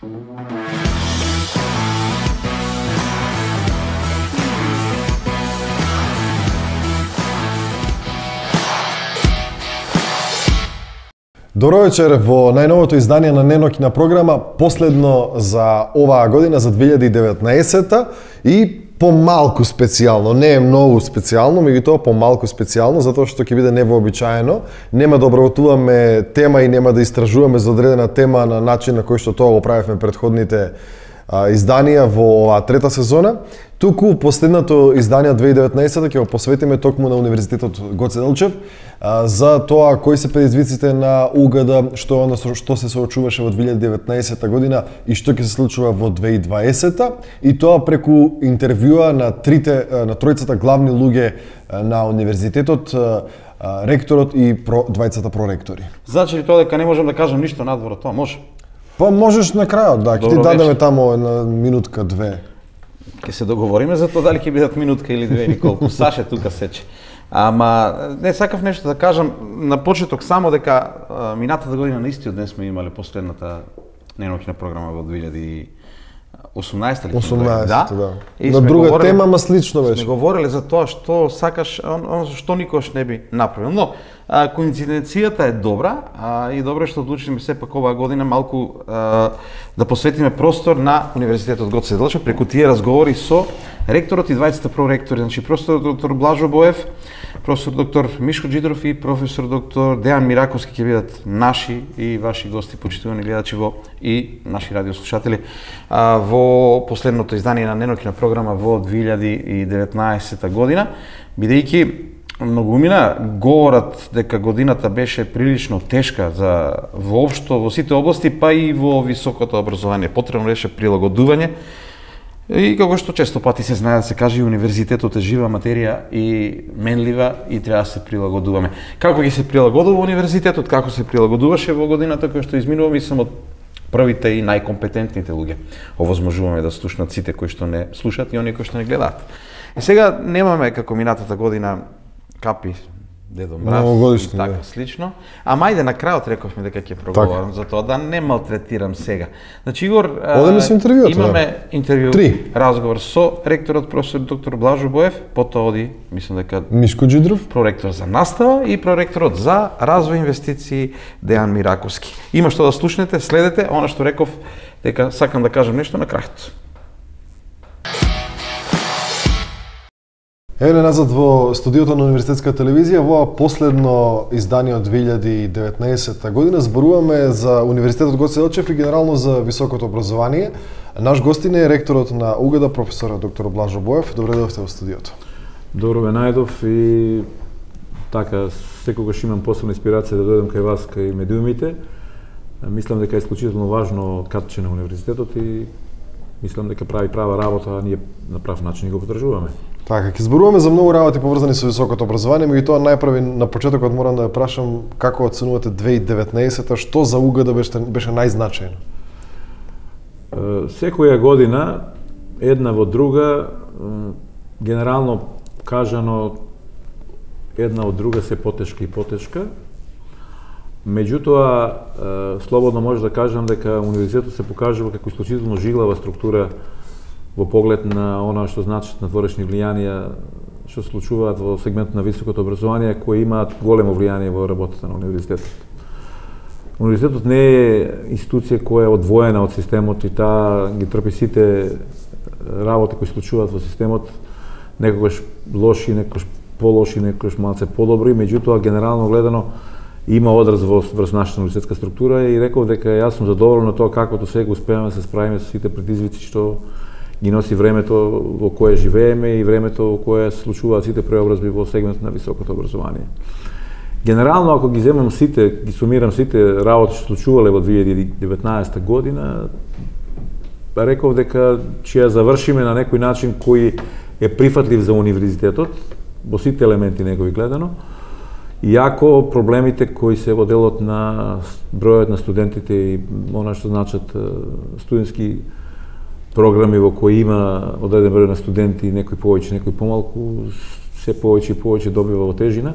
Добро вечер во најновото издание на Ненокина програма, последно за оваа година, за 2019 и помалку специјално, не е многу специјално, меѓутоа помалку специјално, затоа што ќе биде невообичаено. Нема да обработуваме тема и нема да истражуваме за одредена тема на начин на кој што тоа го правевме претходните изданија во оваа трета сезона. Туку последното издание 2019 ќе го посветиме токму на Универзитетот Гоце Делчев за тоа кои се предизвиците на УГД, што се соочуваше во 2019 година и што ќе се случува во 2020 и тоа преку интервјуа на тројцата главни луѓе на универзитетот, ректорот и двајцата проректори. Значи ли тоа дека не можам да кажам ништо надвор од тоа? Може? Па можеш на крајот, да, ќе ти дадеме тамо една минутка, две. Ќе се договориме за тоа дали ќе бидат минутка или две или колку. Саше тука сече. Ама не сакав нешто да кажам на почеток само дека минатата година на истиот ден сме имале последната Ненокина програма во 2018 или 18, да. И на друга тема, ма слично беше. Сме говореле за тоа што сакаш, што никош не би направил. Но коинциденцијата е добра и добро е што одлучиме сепак оваа година малку да посветиме простор на Универзитетот Гоце Делчев преку тие разговори со ректорот и двајцата проректори, значи професор доктор Блажо Боев, професор доктор Мишко Джидров и професор доктор Дејан Мираковски ќе бидат наши и ваши гости, почитувани гледачи и наши радиослушатели во последното издание на Ненокина програма во 2019 година, бидејќи многумина говорат дека годината беше прилично тешка за воопшто во сите области, па и во високото образование. Потребно беше прилагодување. И како што често пати се знае да се каже, универзитетот е жива материја и менлива и треба да се прилагодуваме. Како ќе се прилагодува универзитетот, како се прилагодуваше во годината која што изминува, мислам од првите и најкомпетентните луѓе. Овозможуваме да слушнат сите кои што не слушаат и оние кои што не гледаат. И сега немаме како минатата година капи Дедо Мраз и така слично. Ама ајде на крајот рековме дека ќе проговорам за тоа, да не малтретирам сега. Значи Игор, имаме интервју, разговор со ректорот професор доктор Блажо Боев, потоа оди, мислам дека Мишко Джидров, проректор за настава и проректорот за развој инвестиции Дејан Мираковски. Има што да слушнете, следете, она што реков дека сакам да кажам нешто на крајот. Еве назад во студиото на Универзитетска телевизија, во последно издание од 2019 година зборуваме за Универзитетот Гоце Делчев и генерално за високото образование. Наш гостин е ректорот на УГД, професор доктор Блажо Боев. Добре дојдовте во студиото. Добро ве најдов и така секогаш имам посебна инспирација да дојдам кај вас, кај медиумите. Мислам дека е исклучително важно катче на универзитетот и мислам дека прави права работа, а ние на прав начин го подржуваме. Така, ќе зборуваме за многу работи поврзани со високото образование, меѓутоа најпрви на почетокот морам да ја прашам како оценувате 2019-та, што за УГД беше најзначајно? Секоја година, една во друга, генерално кажано, една од друга се потешка и потешка. Меѓутоа, слободно може да кажам дека универзитетот се покажува како исклучително жилава структура во поглед на она што значат надворешни влијанија што се случуваат во сегмент на високото образование, кои имаат големо влијание во работата на универзитетот. Универзитетот не е институција која е одвоена од системот и таа ги трпи сите работи кои се случуваат во системот, некогаш лоши, некогаш полоши, некогаш малце подобри, меѓутоа генерално гледано има одраз врз нашата универзитетска структура и реков дека јас сум задоволен од тоа како до сега успеаме да се справиме со сите предизвици што ги носи времето во кое живееме и времето во кое се случуваат сите преобразби во сегмент на високото образование. Генерално, ако ги земам сите, ги сумирам сите работи што случувале во 2019 година, реков дека ќе ја завршиме на некој начин кој е прифатлив за универзитетот, во сите елементи негови гледано, иако проблемите кои се во делот на бројот на студентите и она што значат студентски програми во кои има одреден број на студенти, некој повеќе, некој помалку, се повеќе и повеќе добива во тежина.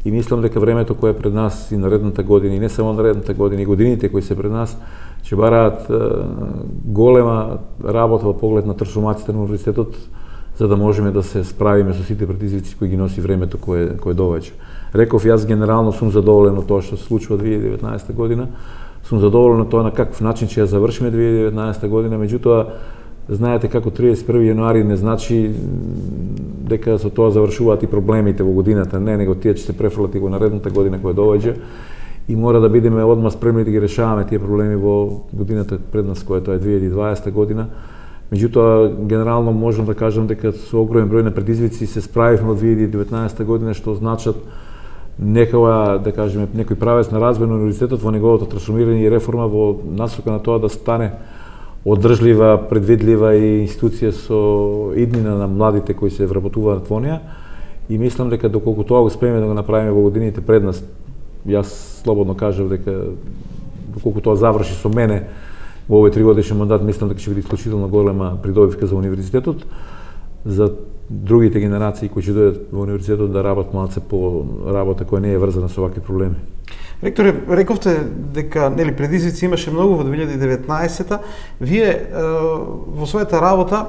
и мислам дека времето кое е пред нас и наредната година, и не само наредната година, и годините кои се пред нас, ќе бараат голема работа во поглед на трансформацијата на универзитетот, за да можеме да се справиме со сите предизвици кои ги носи времето кое довеќе. Реков, јас генерално сум задоволен од тоа што се случува 2019 година, сум задоволен од тоа на каков начин ќе ја завршиме 2019 година, меѓутоа, знаете како 31 јануари не значи дека со тоа завршуваат и проблемите во годината, не, него тие ќе се префрлат и во наредната година која доаѓа и мора да бидеме одма спремни да ги решаваме тие проблеми во годината пред нас, која е 2020 година. Меѓутоа, генерално можам да кажам дека со огромен број на предизвици се справивме од 2019 година, што значат некоја, да кажеме, некој правец на развој на универзитетот во неговото трансформирање и реформа во насока на тоа да стане одржлива, предвидлива и институција со иднина на младите кои се вработуваат во неа. И мислам дека доколку тоа успееме да го направиме во годините пред нас, јас слободно кажав дека доколку тоа заврши со мене во овој 3-годишен мандат, мислам дека ќе биде исклучително голема придобивка за универзитетот, за другите генерации кои ќе дојдат во универзитетот да работат малце по работа која не е врзана со вакви проблеми. Ректоре, рековте дека нели предизвици имаше многу во 2019-та. Вие во својата работа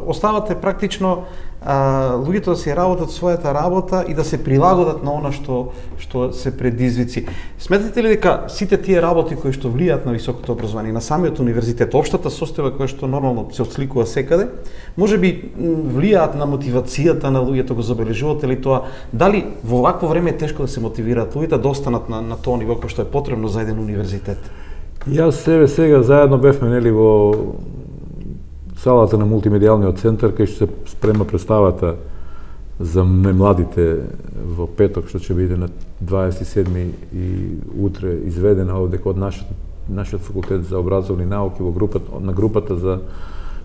оставате практично луѓето да се работат својата работа и да се прилагодат на она што се предизвици. Сметате ли дека сите тие работи кои што влијаат на високото образование, на самиот универзитет, општата состојба која што нормално се отсликува секаде, можеби влијаат на мотивацијата на луѓето, го забележувате ли тоа? Дали во вакво време е тешко да се мотивираат луѓето да останат на тоа ниво кој што е потребно за еден универзитет? Јас себе сега заедно бевме нели во салата на мултимедијалниот центар, кај што се спрема представата за младите во петок, што ќе биде на 27 и утре изведена овде од нашиот факултет за образовни науки на групата за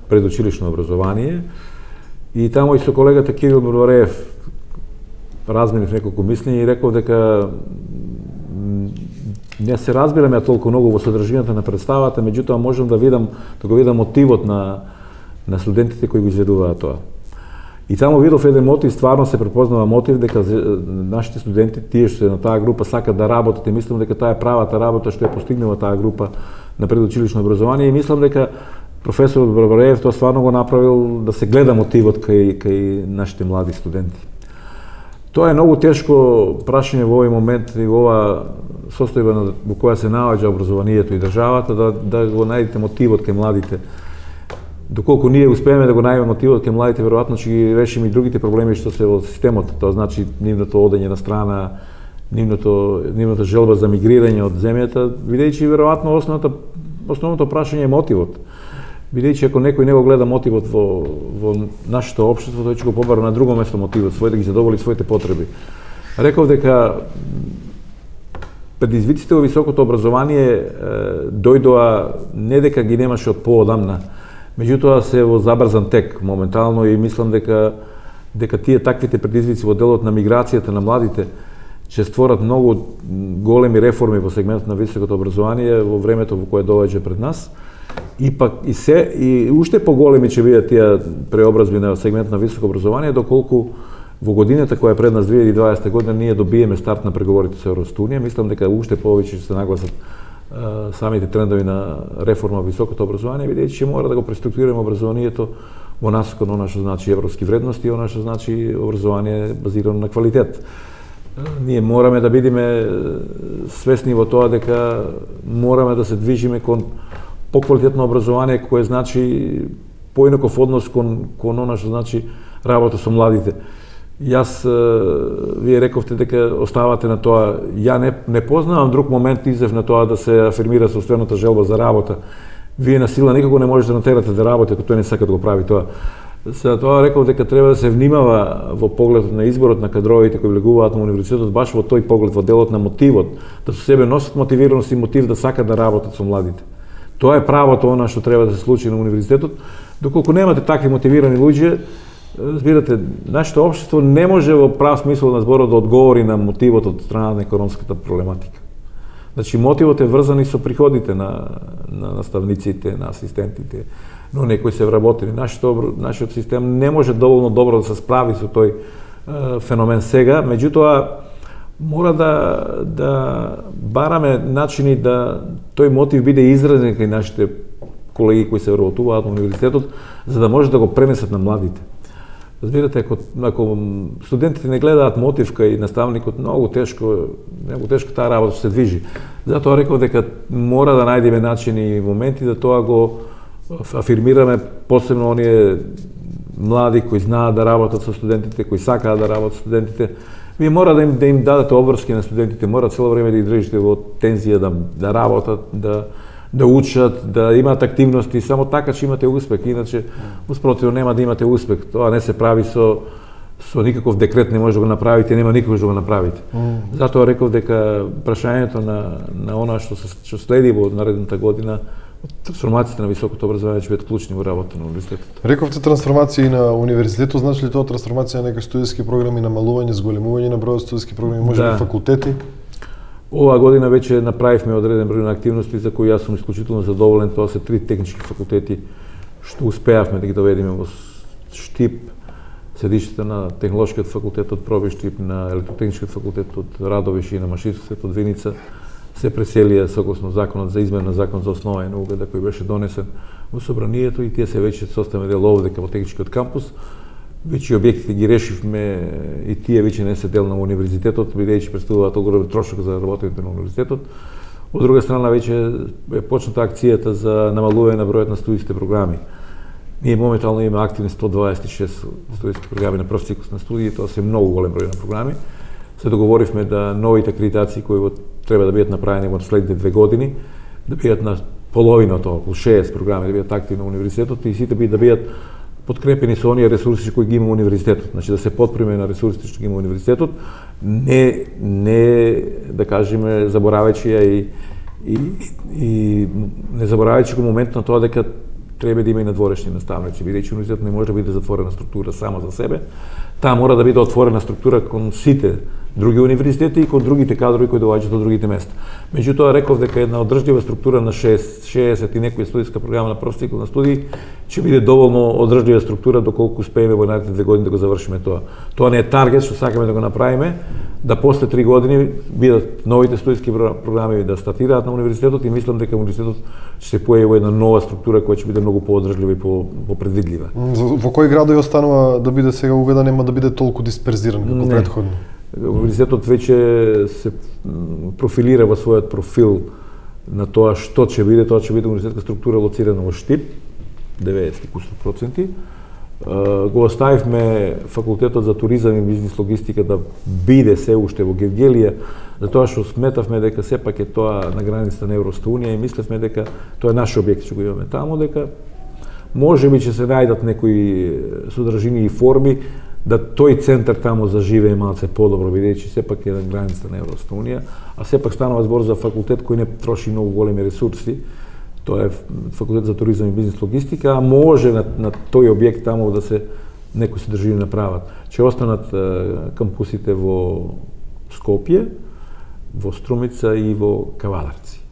предучилишно образование. И таму и со колегата Кирил Мурвареев разменив неколку мислења и реков дека не се разбираме толку многу во содржината на представата, меѓутоа можам да го видам мотивот на студентите кои го изведуваат тоа. И таму видов еден мотив, стварно се препознава мотив дека нашите студенти, тие што се на таа група сакат да работат и мислам дека таа е правата работа што ја постигнува таа група на предучилишно образование и мислам дека професорот Барбареев тоа стварно го направил да се гледа мотивот кај нашите млади студенти. Тоа е многу тешко прашање во овој момент и во ова состојба во која се наоѓа образованието и државата да го најдете мотивот кај младите. Доколку ние успееме да го најдеме мотивот кај младите, веројатно ќе ги решиме и другите проблеми што се во системот. Тоа значи нивното одење на страна, нивната желба за мигрирање од земјата, бидејќи веројатно основното прашање е мотивот. Бидејќи ако некој не го гледа мотивот во нашето општество, тој ќе го побара на друго место мотивот свој да ги задоволи своите потреби. Реков дека предизвиците во високото образование дојдоа не дека ги немаше од поодамна, меѓутоа се во забрзан тек моментално и мислам дека тие таквите предизвици во делот на миграцијата на младите ќе створат многу големи реформи во сегментот на високото образование во времето во кое доаѓа пред нас. И пак и уште поголеми ќе бидат тие преобразби на сегментот на високо образование доколку во годината која е пред нас 2020 година ние добиеме старт на преговорите со Европската унија. Мислам дека уште повеќе ќе се нагласат самите трендови на реформа во високото образование, бидејќи ќе мора да го преструктурираме образованието во насока на она што значи европски вредности и она што значи образование базирано на квалитет. Ние мораме да бидеме свесни во тоа дека мораме да се движиме кон поквалитетно образование кое значи поинаков однос кон она што значи работа со младите. Јас, вие рековте дека оставате на тоа, ја не познавам друг момент изев на тоа да се афирмира собствената желба за работа. Вие на сила никако не можете да натерате да работи, ако тој не сака да го прави тоа. За тоа реков дека треба да се внимава во погледот на изборот на кадровите кои влегуваат на универзитетот, баш во тој поглед, во делот на мотивот, да со себе носат мотивираност и мотив да сакат да работат со младите. Тоа е правото она што треба да се случи на универзитетот. Доколку немате такви мотивирани луѓе, разбирате, нашето општество не може во прав смисол на зборот да одговори на мотивот од страна на економската проблематика. Значи, мотивот е врзан и со приходите на наставниците, на асистентите, но некои се вработени. Нашиот систем не може доволно добро да се справи со тој феномен сега, меѓутоа, мора да бараме начини да тој мотив биде изразен кај нашите колеги кои се вработуваат на универзитетот, за да може да го пренесат на младите. Разбирате, ако студентите не гледаат мотив кај наставникот, многу тешко таа работа се движи. Затоа реков дека мора да најдеме начини и моменти да тоа го афирмираме, посебно оние млади кои знаат да работат со студентите, кои сакаат да работат со студентите. Вие мора да им дадете обврски на студентите, мора цело време да ги држите во тензија да работат, да учат, да имаат активности, само така ќе имате успех, иначе успротивно нема да имате успех. Тоа не се прави со никаков декрет, не може да го направите, нема никош да го направите. Затоа реков дека прашањето на она што следи во наредната година, трансформацијата на високото образование ќе бидат клучни во работата на универзитетот. Рековте трансформации на универзитетот, значи ли тоа трансформација на некои студиски програми, намалување, зголемување на бројот студиски програми, може би факултети? Оваа година веќе направивме одреден број на активности за кои јас сум исклучително задоволен. Тоа се 3 технички факултети што успеавме да ги доведеме во Штип, седиште на Технолошкиот факултет од Проби Штип, на Електротехничкиот факултет од Радовиш и на Машинскиот од Виница се преселија согласно законот за измена на закон за основа и наука кој беше донесен во собранието, и тие се веќе составени дел овде во техничкиот кампус. Веќе објектите ги решивме и тие веќе не се дел на универзитетот, бидејќи представуваат огромен трошок за работите на универзитетот. Од друга страна веќе е почната акцијата за намалување на бројот на студиски програми. Ние моментално имаме активни 126 студиски програми на прв циклус на студии, тоа се многу голем број на програми. Се договоривме да новите акредитации кои треба да бидат направени во следните 2 години, да бидат на половината, околу 60 програми да бидат активни на универзитетот и сите да бидат подкрепени со оние ресурси кои ги има универзитетот. Значи да се подпреме на ресурсите што ги има универзитетот, не да кажеме заборавајќи ја и не заборавајќи го моментот на тоа дека треба да има и надворешни наставници, бидејќи универзитетот не може да биде затворена структура само за себе. Таа мора да биде отворена структура кон сите други универзитети и кон другите кадрови кои доаѓаат од другите места. Меѓутоа реков дека една одржлива структура на 60 и некоја студиска програма на прв цикл на студии ќе биде доволно одржлива структура доколку успееме во наредните 2 години да го завршиме тоа. Тоа не е таргет што сакаме да го направиме, да после 3 години бидат новите студиски програми да стартираат на универзитетот и мислам дека универзитетот ќе се појави во една нова структура која ќе биде многу поодржлива и попредвидлива. Во кои градови останува да биде сега уга, да нема да биде толку дисперзиран како претходно? Универзитетот веќе се профилира во својот профил на тоа што ќе биде. Тоа ќе биде универзитетска структура лоцирана во Штип, 90%. Го оставивме факултетот за туризам и бизнис логистика да биде се уште во Гевгелија, затоа што сметавме дека сепак е тоа на границата на Европската унија и мислевме дека тоа е наш објект што го имаме таму, дека можеби ќе се најдат некои содржини и форми да тој центар таму заживее малце подобро, бидејќи сепак е на границата на Европската унија, а сепак станува збор за факултет кој не троши многу големи ресурси. Тоа е факултет за туризам и бизнис логистика, а може на тој објект таму да се некои содржини направат. Ќе останат кампусите во Скопје, во Струмица и во Кавадарци.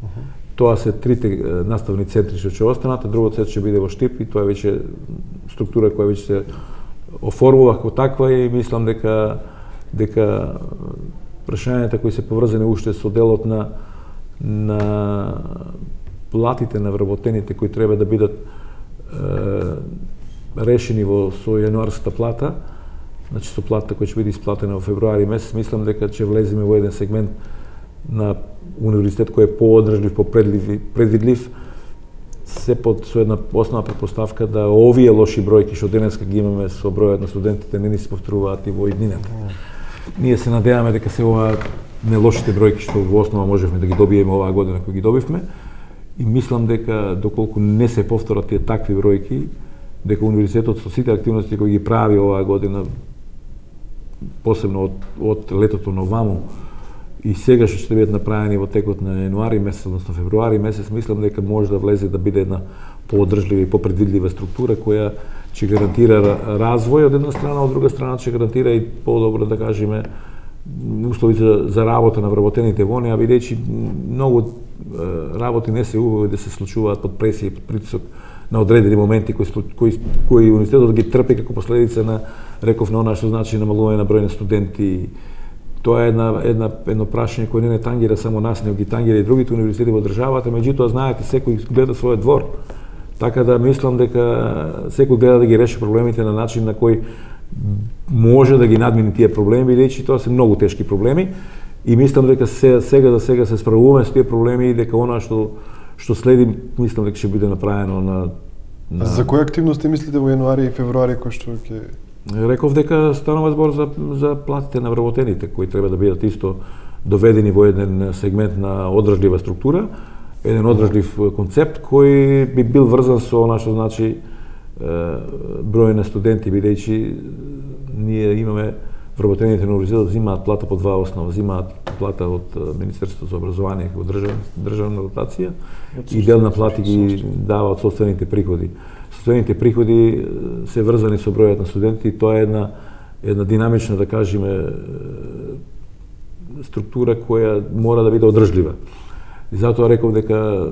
Тоа се трите наставни центри што ќе останат, а другото ќе биде во Штип и тоа е веќе структура која веќе се оформува како таква и мислам дека прашањата кои се поврзани уште со делот на платите на вработените кои треба да бидат решени со јануарската плата, значи со платата која ќе биде исплатена во февруари месец, мислам дека ќе влеземе во еден сегмент на универзитет кој е поодржлив, попредвидлив, се со една основна претпоставка да овие лоши бројки што денеска ги имаме со бројот на студентите не ни се повторуваат и во иднината. Ние се надеваме дека се ова не лошите бројки што во основа можевме да ги добиеме оваа година кои ги добивме и мислам дека доколку не се повторат тие такви бројки, дека универзитетот со сите активности кои ги прави оваа година, посебно од летото на оваму, и сега што ќе бидат направени во текот на јануари месец, односно февруари месец, мислам дека може да влезе да биде една поодржлива и попредвидлива структура која ќе гарантира развој од една страна, од друга страна ќе гарантира и подобро да кажеме услови за работа на вработените во неа, бидејќи многу работи не се убави да се случуваат под пресија и под притисок на одредени моменти кои универзитетот ги трпи како последица на, реков, на она што значи намалување на број на студенти. Тоа е едно прашање кое не тангира само нас, него ги тангира и другите универзитети во државата, меѓутоа знаете секој гледа својот двор. Така да мислам дека секој гледа да ги реши проблемите на начин на кој може да ги надмини тие проблеми, бидејќи тоа се многу тешки проблеми и мислам дека сега се справуваме со тие проблеми и дека она што следи, мислам дека ќе биде направено на За кои активности мислите во јануари и февруари кои што ќе Реков дека станува збор за платите на вработените кои треба да бидат исто доведени во еден сегмент на одржлива структура, еден одржлив концепт кој би бил врзан со она што значи број на студенти, бидејќи ние имаме вработените на универзитетот земаат плата по два основа, земаат плата од Министерството за образование како државна дотација и дел на плати ги дава од сопствените приходи. Сопствените приходи се врзани со бројот на студенти и тоа е една динамична, да кажеме, структура која мора да биде одржлива. И затоа реков дека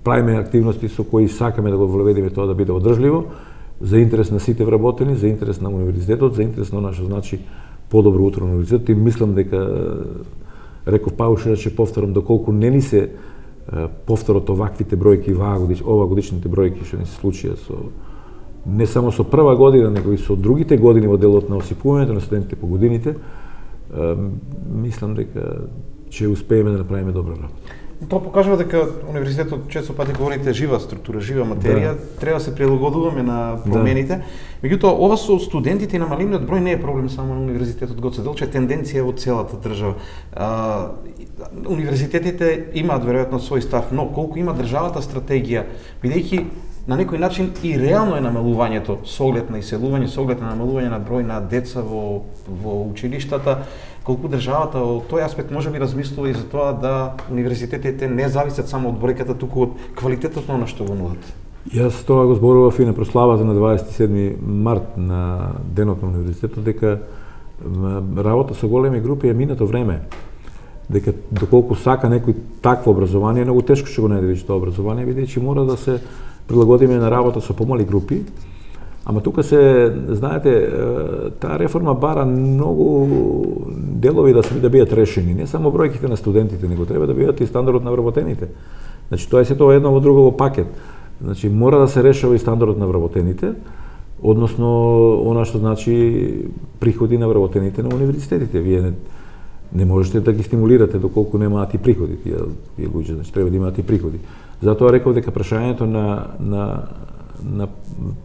правиме активности со кои сакаме да го воведеме тоа да биде одржливо, за интерес на сите вработени, за интерес на универзитетот, за интерес на она што значи подобро утро на универзитетот и мислам дека реков Паушева ќе повторам доколку не ни се повторот оваквите бројки ова годишните бројки што ни се случија со не само со прва година, него и со другите години во делот на осипувањето на студентите по годините, мислам дека ќе успееме да направиме добра работа. Тоа покажува дека универзитетот често пати говорите жива структура, жива материја, треба да се прилагодуваме на промените. Меѓутоа ова со студентите и намалениот број не е проблем само на универзитетот Гоце Делчев, тенденција во целата држава. Универзитетите имаат веројатно свој став, но колку има државата стратегија, бидејќи на некој начин и реално е намалувањето со оглед на иселување, со оглед на намалување на број на деца во училиштата, колку државата во тој аспект може би размислува и за тоа да универзитетите не зависат само од бројката, туку од квалитетот на она што го нудат. Јас тоа го зборував и на прославата на 27 март на денот на универзитетот дека работа со големи групи е минато време. Дека доколку сака некој такво образование, многу тешко ќе го најде тоа образование, бидејќи мора да се прилагодиме на работа со помали групи. Ама тука знаете, таа реформа бара многу делови да бидат решени, не само бројките на студентите, него треба да бидат и стандардот на вработените. Значи тоа е сето едно во друго во пакет. Значи мора да се решава и стандардот на вработените, односно она што значи приходи на вработените на универзитетите. Вие не можете да ги стимулирате доколку немаат и приходи тие луѓе, значи треба да имаат и приходи. Затоа реков дека прашањето на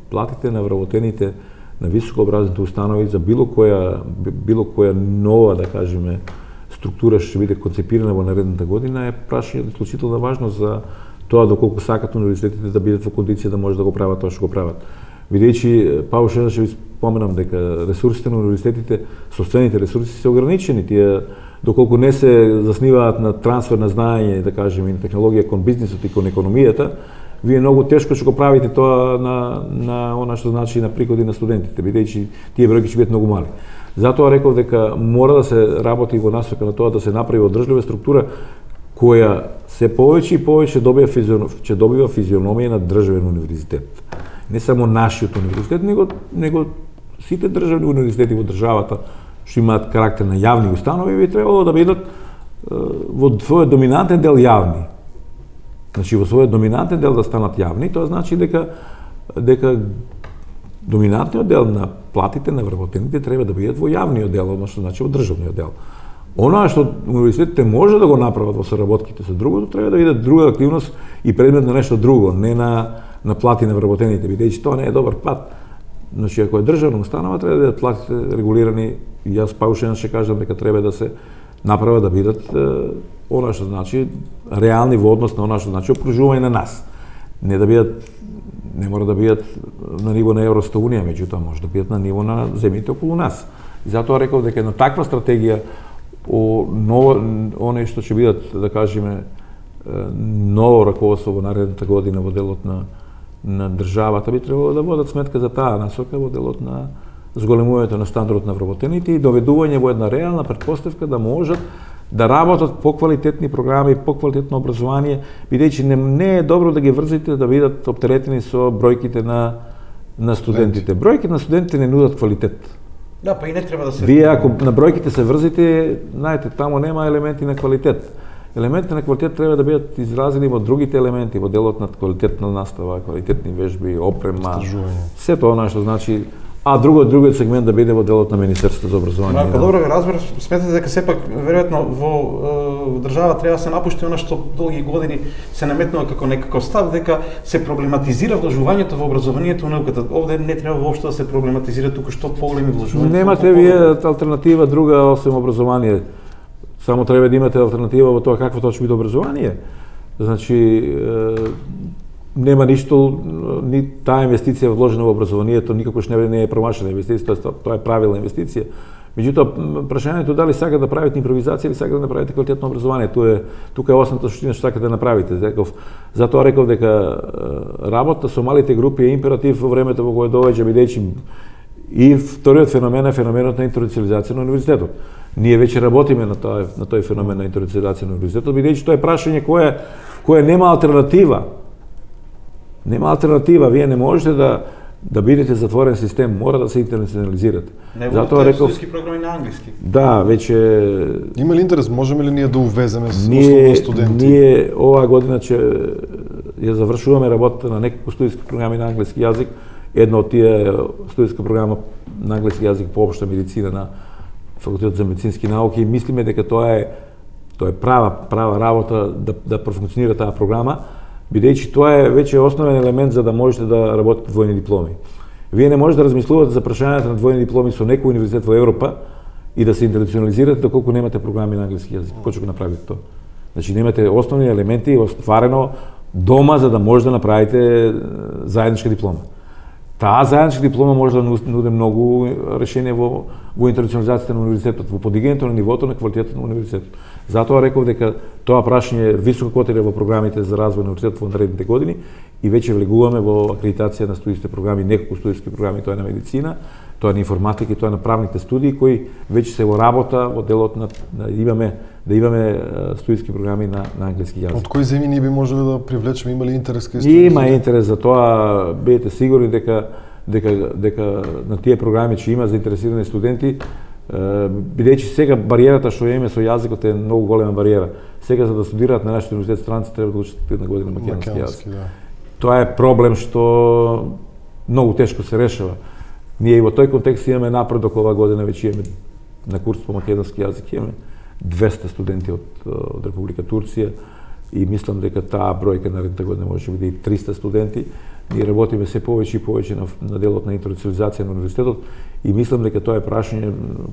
платите на вработените на високообразовните установи за било која нова, да кажеме, структура што ќе биде концепирана во наредната година е прашање од исклучителна важност за тоа доколку сакат универзитетите да бидат во кондиција да може да го прават тоа што го прават. Бидејќи Паушева ќе ви споменам дека ресурсите на универзитетите, сопствените ресурси се ограничени, тие доколку не се засниваат на трансфер на знаење, да кажеме, и на технологија кон бизнисот и кон економијата, вие многу тешко ќе го правите тоа на она што значи на приходи на студентите, бидејќи тие бројки ќе бидат многу мали. Затоа реков дека мора да се работи во насока на тоа да се направи одржлива структура која се повеќе и повеќе ќе добива физиономија на државен универзитет. Не само нашиот универзитет, него сите државни универзитети во државата што имаат карактер на јавни установи би требало да бидат во својот доминантен дел јавни. Значи во својот доминантен дел да станат јавни, тоа значи дека доминантниот дел на платите на вработените треба да бидат во јавниот дел, односно значи во државниот дел. Она што универзитетите може да го направат во соработките со другото, треба да биде друга активност и предмет на нешто друго, не на плати на вработените, бидејќи тоа не е добар пат. Значи ако е државна установа, треба да бидат платите регулирани и јас Паушен ќе кажам дека треба да се направат да бидат она што значи реални во однос на она што значи опружување на нас. Не мора да бидат на ниво на Европска унија, меѓутоа може да бидат на ниво на земјите околу нас. И затоа реков дека една таква стратегија оне што ќе бидат, да кажеме, ново раководство во наредната година во делот на државата би требало да водат сметка за таа насока во делот на зголемувањето на стандардот на вработените и доведување во една реална претпоставка да можат да работат поквалитетни програми, поквалитетно образование, бидејќи не е добро да ги врзите да бидат оптеретени со бројките на студентите. Бројките на студентите не нудат квалитет. Да, па и не треба да се... Вие ако на бројките се врзите, знаете, таму нема елементи на квалитет. Елементите на квалитет треба да бидат изразени во другите елементи, во делот на квалитетна настава, квалитетни вежби, опрема, сето она што значи, а другиот сегмент да биде во делот на Министерството за образование. Ако добро ве разберав, сметате дека сепак веројатно во држава треба да се напушти она што долги години се наметнува како некаков став, дека се проблематизира вложувањето во образованието и науката. Овде не треба воопшто да се проблематизира, туку што поголеми вложувања. Немате вие алтернатива друга освен образование. Само треба да имате алтернатива во тоа какво точно биде образование. Значи, нема ништо, ни таа инвестиција вложена во образованието никакош не е промашена инвестиција, тоа е правилна инвестиција. Меѓутоа, прашањето дали сака да правите импровизација или сака да направите квалитетно образование, тука е основната суштина што сака да направите. Затоа реков дека работа со малите групи е императив во времето во кое доаѓа, бидејќи и вториот феномен е феноменот на интернационализација на универзитетот. Ние веќе работиме на тој феномен на интернационализација на универзитетот, бидејќи тоа е прашање кое нема алтернатива. Нема алтернатива, вие не можете да бидете затворен систем, мора да се интернационализирате. Затоа реков студентски програми на англиски. Да, веќе има ли интерес, можеме ли ние да увеземе основно студенти? Ние оваа година ќе ја завршуваме работата на неколку студентски програми на англиски јазик. Една од тие студентска програма на англиски јазик по општа медицина на Факултетот за медицински науки и мислиме дека тоа е права работа да профункционира таа програма, бидејќи тоа е веќе основен елемент за да можете да работите двојни дипломи. Вие не можете да размислувате за прашањето на двојни дипломи со некој универзитет во Европа и да се интернационализирате доколку немате програми на англиски јазик. Како ќе го направите тоа? Значи немате основни елементи остварено дома за да може да направите заедничка диплома. Таа заедничка диплома може да нуди многу решение во интернационализацијата на универзитетот, во подигањето на нивото на квалитетот на универзитетот. Затоа реков дека тоа прашање високо котира во програмите за развој на универзитетот во наредните години и веќе влегуваме во акредитација на студijските програми, неколку студijски програми, тоа е на медицина, тоа е на информатика и тоа е на правните студии кои веќе се во работа во делот на да имаме студijски програми на англиски јазик. Од кои земји ние би можеле да привлечеме, има ли интерес кај студенти? Има интерес за тоа, бидете сигурни дека на тие програми ќе има заинтересирани студенти, бидејќи сега бариерата што имаме со јазикот е многу голема бариера. Сега за да студираат на нашите универзитет странци треба да учат една година македонски јазик. Да. Тоа е проблем што многу тешко се решава. Ние и во тој контекст имаме напредок оваа година, веќе имаме на курс по македонски јазик имаме 200 студенти од Република Турција и мислам дека таа бројка наредната година може да биде и 300 студенти. Ние работиме се повеќе и повеќе на делот на интернационализација на универзитетот и мислам дека тоа е прашање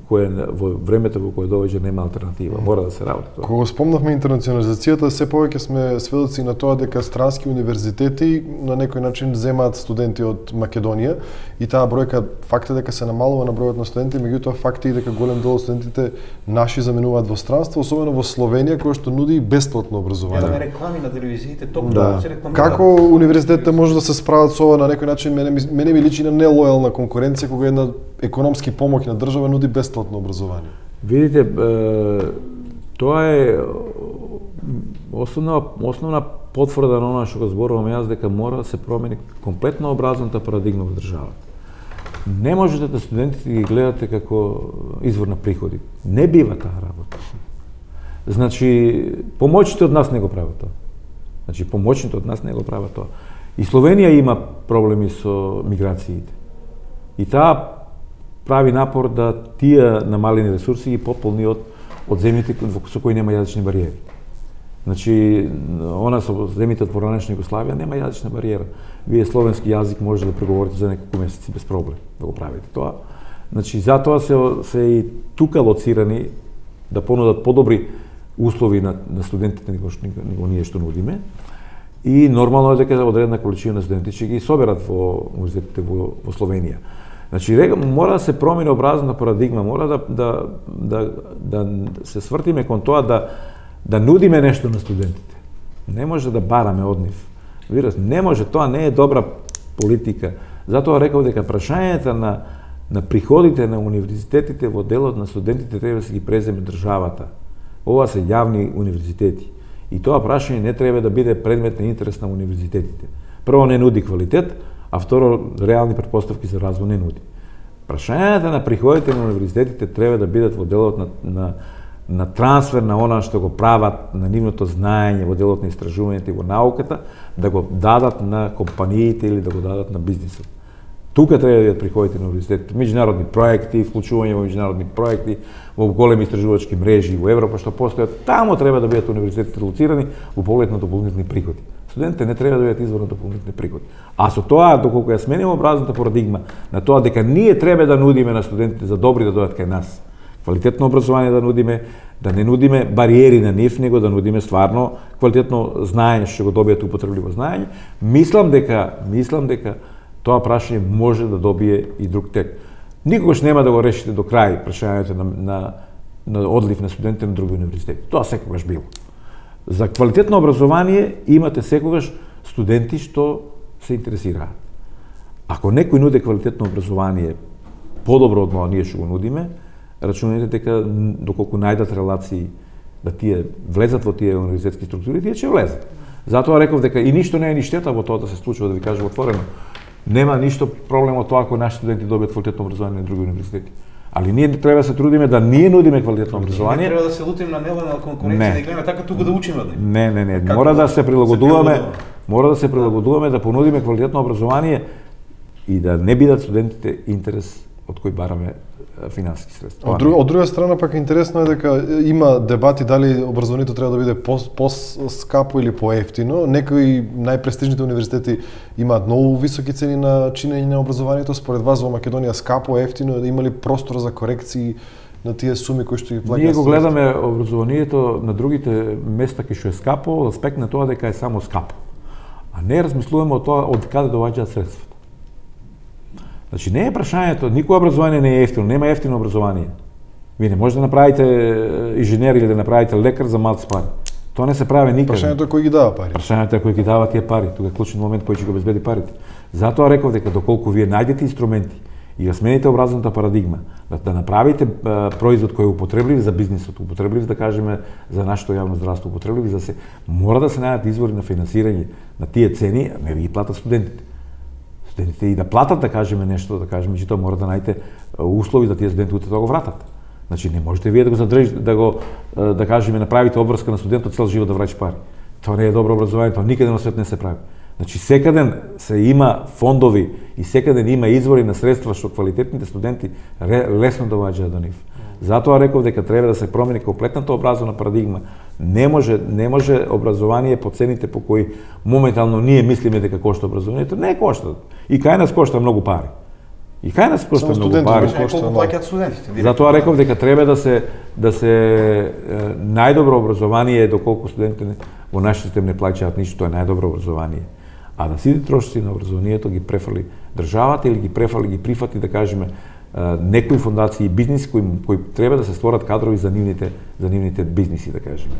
кое во времето во кое доаѓа нема алтернатива, мора да се работи тоа. Кога спомнавме интернационализацијата, се повеќе сме сведоци на тоа дека странски универзитети на некој начин земаат студенти од Македонија и таа бројка факт е дека се намалува на бројот на студенти, меѓутоа факт е и дека голем дел од студентите наши заминуваат во странство, особено во Словенија која што нуди бесплатно образование. Да, реклами на телевизиите, токму се рекламираат. Како универзитетите може да се справат со ова на некој начин? Мене ми личи на нелојална конкуренција кога една економски помоќна држава нуди бесплатно образование. Видите, тоа е основна потврда на она што го зборувам јас, дека мора да се промени комплетно образовната парадигма во државата. Не можете да студентите ги гледате како извор на приходи. Не бива таа работа. Значи, помоќните од нас не го прават тоа. Значи, помоќните од нас не го прават тоа. И Словенија има проблеми со миграциите. И таа прави напор да тие намалени ресурси ги пополни од земјите со кои нема јазични бариери. Значи, она со земјите од поранешна Југославија нема јазична бариера. Вие словенски јазик може да преговорите за неколку месеци без проблем да го правите тоа. Значи, затоа се и тука лоцирани да понудат подобри услови на студентите него ние што нудиме. И нормално е дека одредена количина на студенти ќе ги соберат во универзитетите во Словенија. Значи, мора да се промени образовна парадигма, мора да се свртиме кон тоа да нудиме нешто на студентите. Не може да бараме од нив. Видите, не може, тоа не е добра политика. Затоа реков дека прашањата на приходите на универзитетите во делот на студентите треба да се ги преземе државата. Ова се јавни универзитети. И тоа прашање не треба да биде предмет на интерес на универзитетите. Прво, не нуди квалитет, а второ, реални претпоставки за развој не нуди. Прашањата на приходите на универзитетите треба да бидат во делот на трансфер на она што го прават, на нивното знаење во делот на истражувањето и во науката, да го дадат на компаниите или да го дадат на бизнисот. Тука треба да бидат приходите на универзитетите. Меѓународни проекти, вклучување во меѓународни проекти, во големи истражувачки мрежи во Европа што постојат, таму треба да бидат универзитетите лоцирани во поглед на дополнителни приходи. Студентите не треба да бидат извор на дополнителни приходи. А со тоа, доколку ја сменимо образната парадигма на тоа дека ние треба да нудиме на студентите за добри да дојдат кај нас, квалитетно образование да нудиме, да не нудиме бариери на нив, него да нудиме стварно квалитетно знаење што го добијат употребливо знаење, мислам дека тоа прашање може да добие и друг тек. Никогаш нема да го решите до крај прашањето на одлив на студентите на други универзитети. Тоа секогаш било. За квалитетно образование имате секогаш студенти што се интересираат. Ако некој нуди квалитетно образование подобро од тоа ние што го нудиме, рачунете дека доколку најдат релации да тие влезат во тие универзитетски структури, тие ќе влезат. Затоа реков дека и ништо не е ни штета во тоа да се случува, да ви кажам отворено. Нема ништо проблем од тоа ако наши студенти добијат квалитетно образование на други универзитети. Али ние треба да се трудиме да ние нудиме квалитетно образование. Не треба да се лутиме на нелојална конкуренција, да гледаме така тука да учиме од нив. Не. Мора да се прилагодуваме да понудиме квалитетно образование и да не бидат студентите интерес од кој бараме финансиски средства. Од друга страна пак интересно е дека има дебати дали образованието треба да биде по-скапо или по-ефтино. Некои најпрестижните универзитети имаат многу високи цени на чинење на образованието. Според вас во Македонија скапо, ефтино, има ли простор за корекции на тие суми кои што ги плаќаат? Ние го гледаме образованието на другите места кај што е скапо, од аспект на тоа дека е само скапо. А не размислуваме од тоа од каде доаѓаат средствата. Значи не е прашањето, никој образование не е ефтино, нема ефтино образование. Вие не можете да направите инженер или да направите лекар за малци пари. Тоа не се прави никаде. Прашањето е кој ги дава пари. Прашањето е кој ги дава тие пари, тука е клучен момент кој ќе го обезбеди парите. Затоа реков дека доколку вие најдете инструменти и ја смените образовната парадигма, да направите производ кој е употреблив за бизнисот, употреблив да кажеме за нашето јавно здравство, употреблив за се, мора да се најдат извори на финансирање на тие цени, не ви ги платат студентите. Студентите и да платат, да кажеме нешто, да кажеме, меѓутоа мора да најдете услови да тие студенти да го вратат. Значи не можете вие да го задржите, да кажеме направите обврска на студентот цел живот да враќа пари. Тоа не е добро образование, тоа никаде на свет не се прави. Значи секаде се има фондови и секаде има извори на средства што квалитетните студенти лесно доаѓаат до нив. Затоа реков дека треба да се промени комплетната образовна парадигма. Не може образование по цените по кои моментално ние мислиме дека кошта образованието, не кошта. И кај нас кошта многу пари. И кај нас кошта многу пари. Колку плаќаат студентите? Затоа реков дека треба да се најдобро образование е доколку студентите во нашиот систем не плаќаат ништо, тоа е најдобро образование. А да сите трошоци на образованието ги префали државата или ги прифати да кажеме некои фондации и бизнис кои треба да се створат кадрови за нивните бизниси, да кажеме.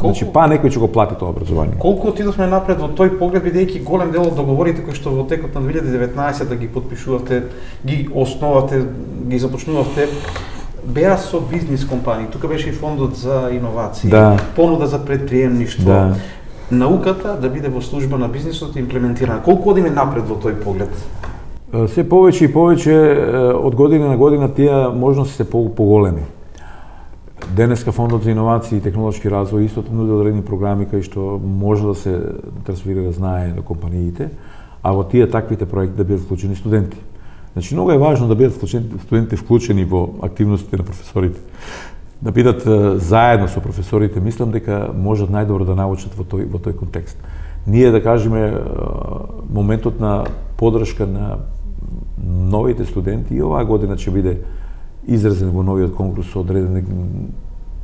Значи некој ќе го плати тоа образование. Колку отидовме напред во тој поглед, бидејќи голем дел од договорите кои што во текот на 2019 ги потпишувавте, ги основавте, ги започнувавте, беа со бизнис компании. Тука беше и фондот за иновации, понуда за предприемништво. Науката да биде во служба на бизнисот имплементирана. Колку одиме напред во тој поглед? Се повеќе и повеќе од година на година тие можности се поголеми. Денеска фондот за иновации и технолошки развој исто нуди одредени програми кај што може да се трансферира знание на компаниите, а во тие таквите проекти да бидат вклучени студенти. Значи многу е важно да бидат студентите вклучени во активностите на професорите. Да бидат заедно со професорите, мислам дека можат најдобро да научат во тој контекст. Ние да кажеме моментот на поддршка на новите студенти и оваа година ќе биде изразен во новиот конкурс со одредена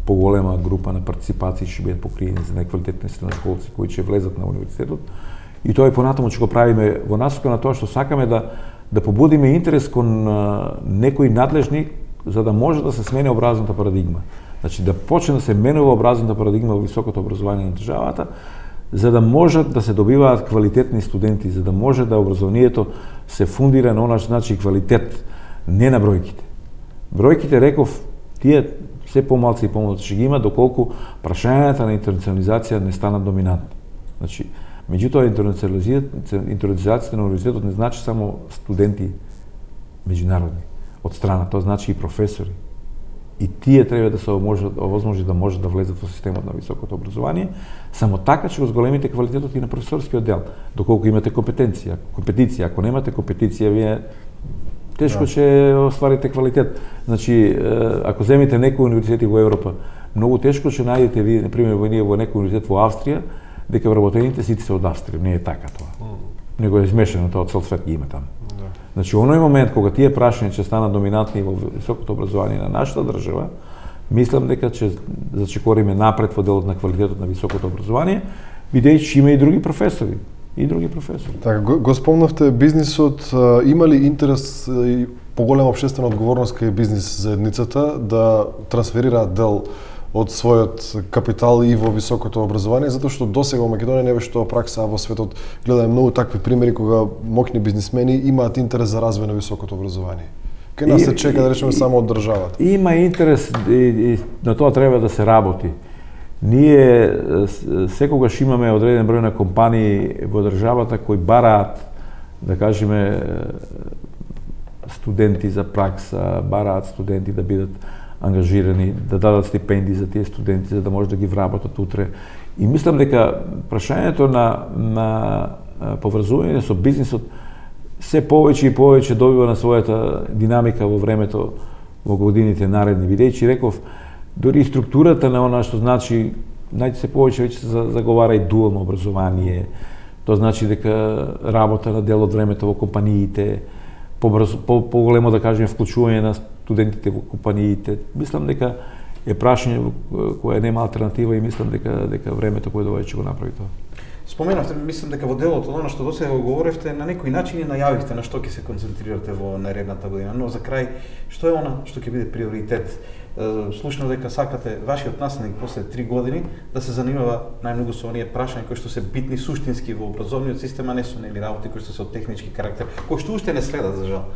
поголема група на партиципации ќе бидат покриени за најквалитетни средношколци кои ќе влезат на универзитетот. И тоа и понатаму ќе го правиме во насока на тоа што сакаме да побудиме интерес кон некои надлежни за да може да се смени образовната парадигма. Значи да почне да се менува образовната парадигма во високото образование на државата, за да можат да се добиваат квалитетни студенти, за да може да образованието се фундира на онач значи квалитет, не на бројките. Бројките, реков, тие се помалци и помалци ќе ги има доколку прашањата на интернационализација не станат доминантни. Значи, меѓутоа интернационализацијата на универзитетот не значи само студенти меѓународни од страна, тоа значи и професори. И тие треба да се овозможи да може да влезат во системот на високото образование, само така ќе го зголемите квалитетот и на професорскиот дел, доколку имате компетенција. Ако немате компетенција, вие тешко ќе остварите квалитет. Значи, ако земите некои универзитети во Европа, многу тешко ќе најдете вие, например, во некој универзитет во Австрија, дека вработените сите се од Австрија. Не е така тоа. Него е измешано тоа, цел свет ги има таму. Значи, оној момент кога тие прашања ќе станат доминантни во високото образование на нашата држава, мислам дека ќе зачекориме напред во делот на квалитетот на високото образование, бидејќи има и други професори. Така, го спомнавте бизнисот, има ли интерес и поголема општествена одговорност кај бизнис заедницата да трансферира дел од својот капитал и во високото образование, затоа што досега во Македонија не беше тоа пракса, а во светот гледаме многу такви примери кога моќни бизнисмени имаат интерес за развој на високото образование. Кај нас се чека, да речеме, само од државата. Има интерес и на тоа треба да се работи. Ние секогаш имаме одреден број на компании во државата кои бараат, да кажеме, студенти за пракса, бараат студенти да бидат ангажирани, да дадат стипендии за тие студенти, за да може да ги вработат утре. И мислам дека прашањето на поврзување со бизнисот се повеќе и повеќе добива на својата динамика во времето, во годините наредни, бидејќи реков, дори и структурата на она што значи, се повеќе веќе се заговара и дуално образование, тоа значи дека работа на дел од времето во компаниите, поголемо, да кажеме, вклучување на студентите во компаниите. Мислам дека е прашање кое нема алтернатива и мислам дека времето кое доаѓа ќе го направи тоа. Споменавте, мислам дека во делот од она што досега го говоревте, на некој начин и најавивте на што ќе се концентрирате во наредната година, но за крај, што е она што ќе биде приоритет? Слушнав дека сакате вашиот наследник после 3 години да се занимава најмногу со оние прашања кои што се битни суштински во образовниот систем, а не со нели работи кои што се од технички карактер, кои што уште не следат за жал.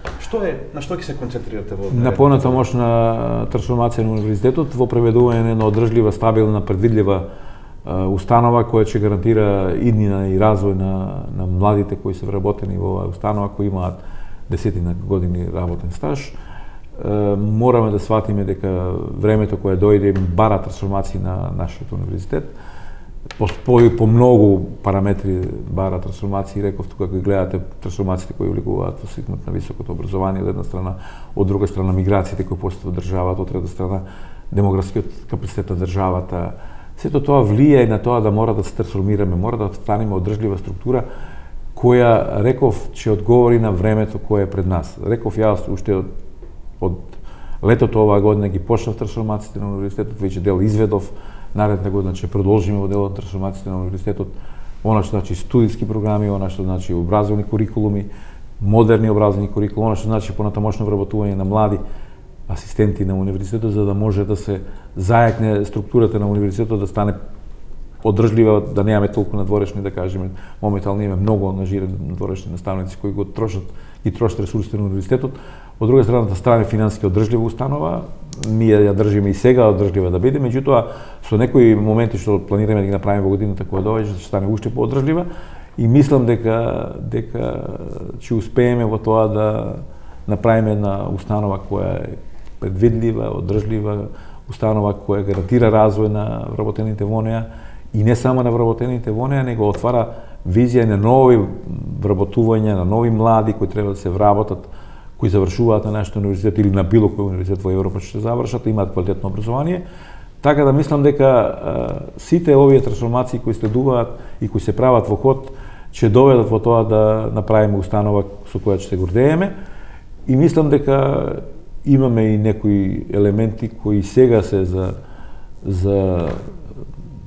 На што ќе се концентрирате во на понатамошна трансформација на универзитетот, во преведување на одржлива, стабилна, предвидлива установа која ќе гарантира иднина и развој на младите кои се вработени во оваа установа, кои имаат десетина години работен стаж. Мораме да сватиме дека времето кое дојде бара трансформации на нашиот универзитет. По многу параметри бара трансформации, реков тука кога гледате трансформациите кои влегуваат во сегмент на високото образование од една страна, од друга страна миграциите кои постојат во државата, од трета страна демографскиот капацитет на државата. Сето тоа влијае на тоа да мора да се трансформираме, мора да станеме одржлива структура која, реков, ќе одговори на времето кое е пред нас. Реков јас уште од летото оваа година ги почнав трансформациите на универзитетот, веќе дел изведов, наредна година ќе продолжиме во делот трансформациите на универзитетот, она што значи студиски програми, она што значи образовни курикулуми, модерни образовни курикулуми, она што значи понатамошно вработување на млади асистенти на универзитетот, за да може да се зајакне структурата на универзитетот, да стане одржлива, да немаме толку надворешни, да кажеме, моментално имаме многу ангажирани надворешни наставници кои ги трошат ресурсите на универзитетот. Од друга страна, да стане финансиски одржлива установа, ние ја држиме и сега одржлива да биде, меѓутоа со некои моменти што планираме да ги направиме во годината која доаѓа, ќе стане уште поодржлива и мислам дека ќе успееме во тоа да направиме една установа која е предвидлива, одржлива, установа која гарантира развој на вработените во неа и не само на вработените во неа, него отвара визија на нови вработувања, на нови млади кои треба да се вработат, кои завршуваат на нашиот универзитет или на било кој универзитет во Европа што ќе завршат, имаат квалитетно образование. Така да мислам дека сите овие трансформации кои следуваат и кои се прават во ход ќе доведат во тоа да направиме установа со која ќе се гордееме и мислам дека имаме и некои елементи кои сега се за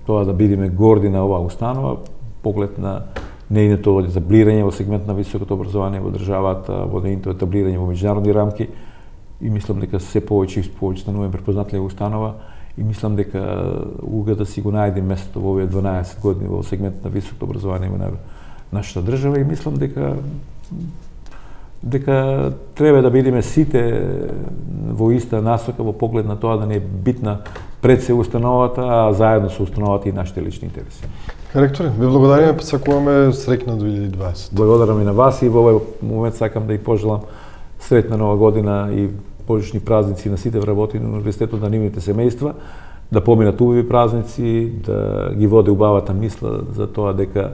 тоа да бидеме горди на оваа установа, поглед на нејното етаблирање во сегмент на високото образование во државата, во нејното етаблирање во меѓународни рамки и мислам дека се повеќе и повеќе стануваме препознатлива установа и мислам дека уга да си го најде местото во овие 12 години во сегмент на високото образование во нашата држава и мислам дека треба да бидеме сите во иста насока во поглед на тоа да не е битна пред се установата, а заедно со установата и нашите лични интереси. Ректори, ви благодариме, посакуваме среќна 2020. Благодарам и на вас и во овој момент сакам да и пожелам сретна нова година и божични празници на сите вработени на универзитетот, на нивните семејства, да поминат убави празници, да ги води убавата мисла за тоа дека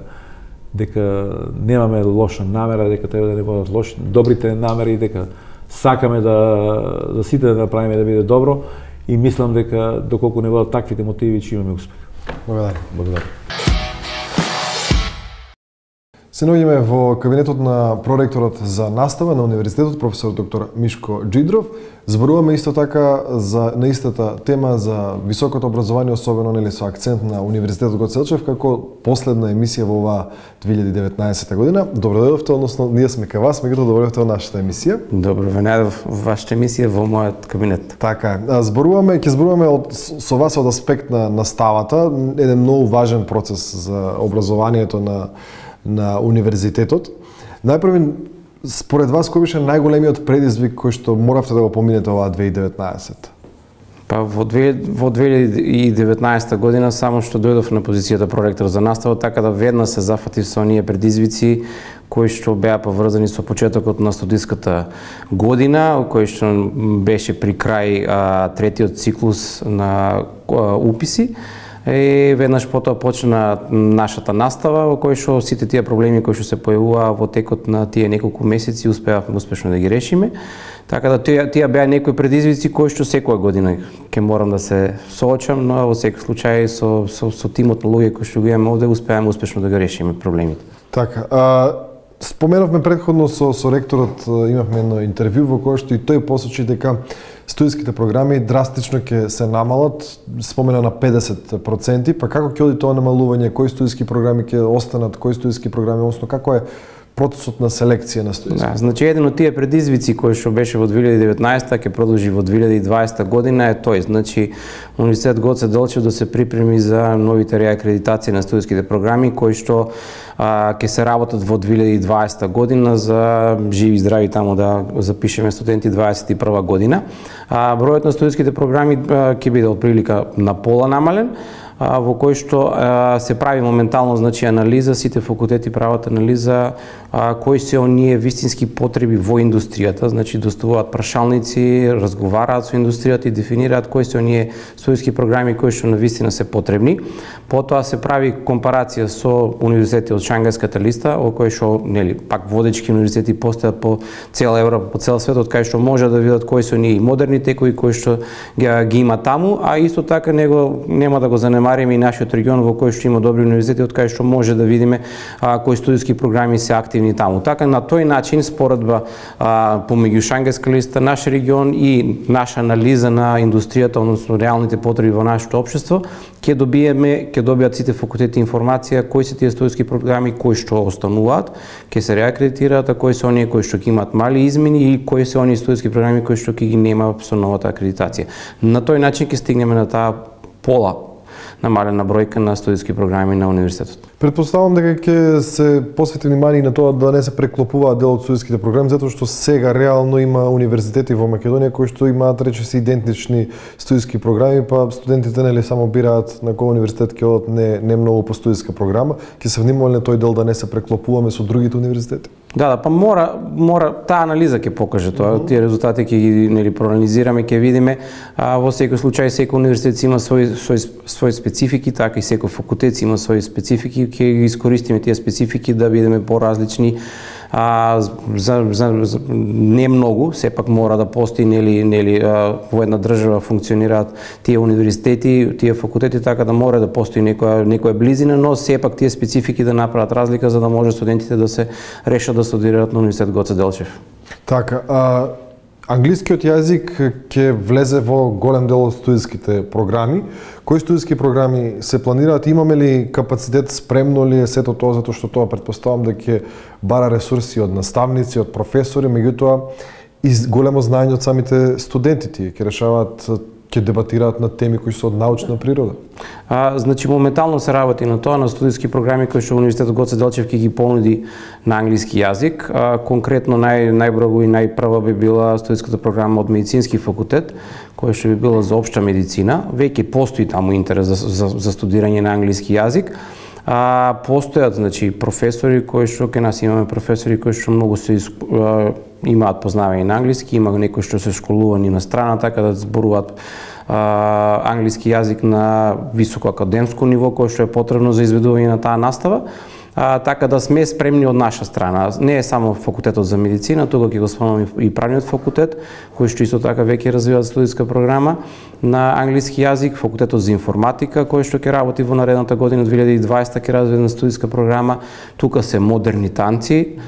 немаме лоша намера, дека треба да не водат добрите намери, дека сакаме да сите да направиме да биде добро и мислам дека доколку не водат таквите мотиви, ќе имаме успех. Благодарам. Се наоѓаме во кабинетот на проректорот за настава на универзитетот, професор доктор Мишко Джидров. Зборуваме исто така на истата тема за високото образование, особено со акцент на Универзитетот Гоце Делчев, како последна емисија во оваа 2019 година. Добро дојдовте, односно ние сме кај вас, меѓутоа добро дојдовте во нашата емисија. Добро ве најдов во вашата емисија во мојот кабинет. Така е. Ќе зборуваме со вас од аспект на наставата, еден многу важен процес за образованието на универзитетот. Најпрво, според вас, кој беше најголемиот предизвик кој што моравте да го поминете оваа 2019? Па во 2019 година само што дојдов на позицијата проректор за настава, така да веднаш се зафатив со оние предизвици кои што беа поврзани со почетокот на студиската година, кој што беше при крај третиот циклус на уписи. И веднаш потоа почна нашата настава, во кој што сите тие проблеми кои што се појавуваа во текот на тие неколку месеци успеавме успешно да ги решиме. Така да тие беа некои предизвици кои што секоја година ќе морам да се соочам, но во секој случај со тимот на луѓе кои што го имаме овде успеавме успешно да ги решиме проблемите. Така, споменавме претходно со ректорот, имавме едно интервју во кое што и тој посочи дека студиските програми драстично ќе се намалат, спомена на 50%, па како ќе оди тоа намалување, кои студиски програми ќе останат, кои студиски програми, односно како е процесот на селекција на студиски? Да, значи еден од тие предизвици кои што беше во 2019 ќе продолжи во 2020 година е тој, значи Универзитет Гоце Делчев да се припреми за новите реакредитации на студиските програми кои што ќе се работат во 2020 година за живи и здрави таму да запишеме студенти 21 година. Бројот на студиските програми ќе биде отприлика на пола намален, во кој што се прави моментално значи анализа, сите факултети прават анализа кои се оние вистински потреби во индустријата, значи доставуваат прашалници, разговараат со индустријата и дефинираат кои се оние студиски програми кои што навистина се потребни. Потоа се прави компарација со универзитети од Шангајската листа, во кој што пак водечки универзитети постојат по цела Европа, по цел светот, кај што може да видат кои се оние модерни текови кои што ги има таму, а исто така нема да го занемариме и нашиот регион во кој што има добри универзитети од кај што може да видиме кои студиски програми се активни таму. Така на тој начин споредба помеѓу Шангајска листа, наш регион и наша анализа на индустријата, односно реалните потреби во нашето општество, ќе добијат сите факултети информација кои се тие студиски програми кои што остануваат, ќе се реакредитираат, а кои се оние кои што ќе имаат мали измени и кои се оние студиски програми кои што ќе ги нема со новата акредитација. На тој начин ќе стигнеме на таа пола намалена бројка на студиски програми на универзитетот. Претпоставам дека ќе се посвети внимание на тоа да не се преклопуваат дел од студиските програми, затоа што сега реално има универзитети во Македонија кои што имаат речиси идентични студиски програми, па студентите нели само бираат на кој универзитет ќе одат, не многу по студиска програма. Ќе се внимаваме на тој дел да не се преклопуваме со другите универзитети. Да, па мора таа анализа ќе покаже тоа, тие резултати ќе ги проанализираме, ќе видиме. Во секој случај секој универзитет има свои специфики, така и секој факултет има свои специфики, ќе ги искористиме тие специфики да бидеме поразлични. Не многу, сепак мора да постои во една држава функционираат тие универзитети, тие факултети, така да мора да постои некоја близина, но сепак тие специфики да направат разлика за да може студентите да се решат да студираат на Универзитет Гоце Делчев. Така, англискиот јазик ќе влезе во голем дел од студиските програми. Кои студиски програми се планираат? Имаме ли капацитет, спремно ли е сето тоа, затоа што тоа претпоставам дека ќе бара ресурси од наставници, од професори, меѓутоа и големо знаење од самите студенти, тие ќе решаваат, ќе дебатираат на теми кои се од научна природа. Значи моментално се работи на тоа, на студиски програми кои што Универзитетот Гоце Делчев ќе ги понуди на англиски јазик. Конкретно најбрзо и најпрва би била студиската програма од медицински факултет, која што би била за општа медицина. Веќе постои таму интерес за студирање на англиски јазик. Постојат, значи, професори кои што кај нас имаме професори кои што многу се имаат познавање на англиски, има некои што се школувани на страна, така да зборуваат англиски јазик на високо академско ниво, кој што е потребно за изведување на таа настава. Така да сме спремни од наша страна. Не е само факултетот за медицина, тука ќе го спомнам и правниот факултет, кој што исто така веќе развива студиска програма на англиски јазик, факултетот за информатика, кој што ќе работи во наредната година 2020 ќе развива студиска програма. Тука се модерни танци,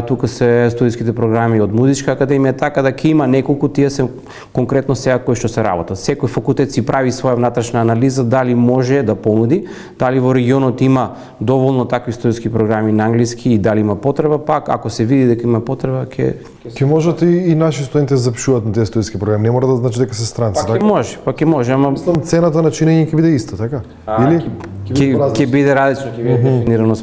тука се студиските програми од музичка академија, така да ќе има неколку, тие се конкретно сега кои што се работат. Секој факултет си прави своја внатрешна анализа дали може да понуди, дали во регионот има доволно такви студиски програми на англиски и дали има потреба, пак ако се види дека има потреба, ќе можат и наши студенти да запишуваат на тези студиски програми. Не мора да значи дека се странци, така? Ќе може, ама мислам цената на чинење ќе биде иста, така? Или ќе биде различно, ќе биде дефинирано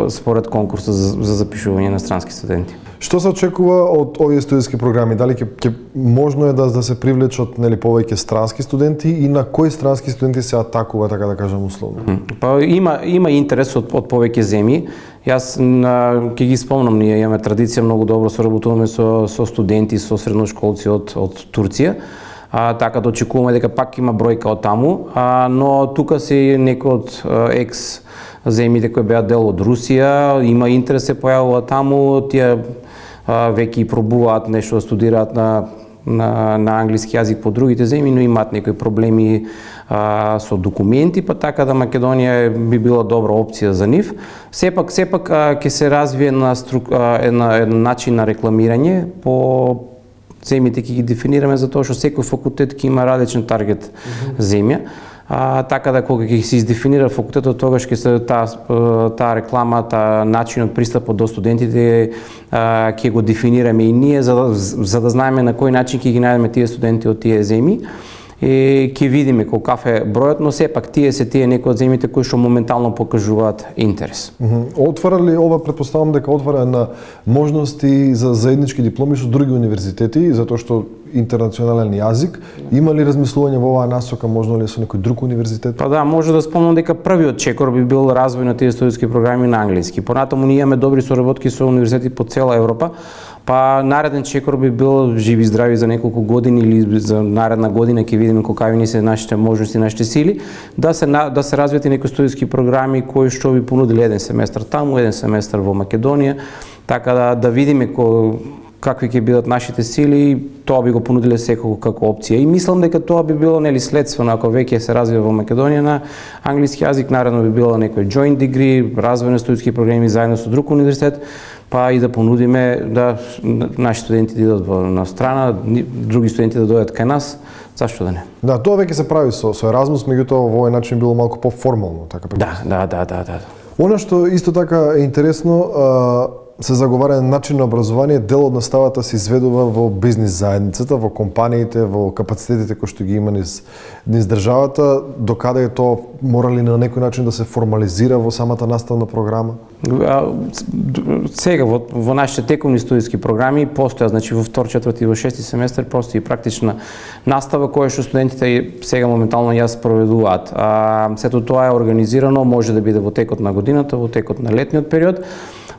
според конкурсот за запишување на странски студенти. Што се очекува од овие студиски програми? Дали ќе можно е да се привлечат, нели, повеќе странски студенти и на кои странски студенти се атакува, така да кажам условно? Па има интерес од повеќе земји. Јас ќе ги спомнам, ние имаме традиција многу добро соработуваме со студенти, со средношколци од Турција. Така да очекуваме дека пак има бројка од таму, но тука се некои од екс земјите кои беа дел од Русија, има интерес се појавува таму, тие веќе и пробуваат нешто да студираат на англиски јазик по другите земји, но имаат некои проблеми со документи, па така да Македонија би била добра опција за нив. Сепак ќе се развие еден начин на рекламирање по земјите ќе ги дефинираме за тоа што секој факултет ќе има различен таргет земја. Така да кога ќе се издефинира факултетот, тогаш ќе се таа реклама, начинот пристапот до студентите ќе го дефинираме и ние за да знаеме на кој начин ќе ги најдеме тие студенти од тие земји. И ќе видиме каков е бројот, но сепак тие некои од земјите кои што моментално покажуваат интерес. Отвара ли ова, претпоставам дека отвара на можности за заеднички дипломи со други универзитети, затоа што интернационален јазик, има ли размислување во оваа насока, можно ли со некој друг универзитет? Па да, може да спомнам дека првиот чекор би бил развој на тие студиски програми на англиски. Понатаму ние имаме добри соработки со универзитети по цела Европа. Па нареден чекор би бил живи здрави за неколку години или за наредна година ќе видиме какви ни се нашите можности, нашите сили, да се развијат и некои студиски програми кои што би понудили еден семестар таму, еден семестар во Македонија, така да видиме какви ќе бидат нашите сили, тоа би го понудиле секако како опција. И мислам дека тоа би било следствено, ако веќе се развива во Македонија на англиски јазик, наредно би било некој joint degree, развојни студиски програми заедно со друг универзитет, па и да понудиме да наши студенти да идат на страна, други студенти да дојдат кај нас, зашто да не? Да, тоа веќе се прави со Еразмус, меѓутоа во овој начин било малку поформално, така пред. Да. Она што исто така е интересно, се заговара начин на образование, дел од наставата се изведува во бизнис заедницата, во компаниите, во капацитетите кои што ги има низ државата, докаде е тоа мора ли на некој начин да се формализира во самата наставна програма? Сега во нашите тековни студиски програми постоја, значи во втор, четврти и во шести семестар постои практична настава која што студентите сега моментално ја спроведуваат. Сето тоа е организирано, може да биде во текот на годината, во текот на летниот период,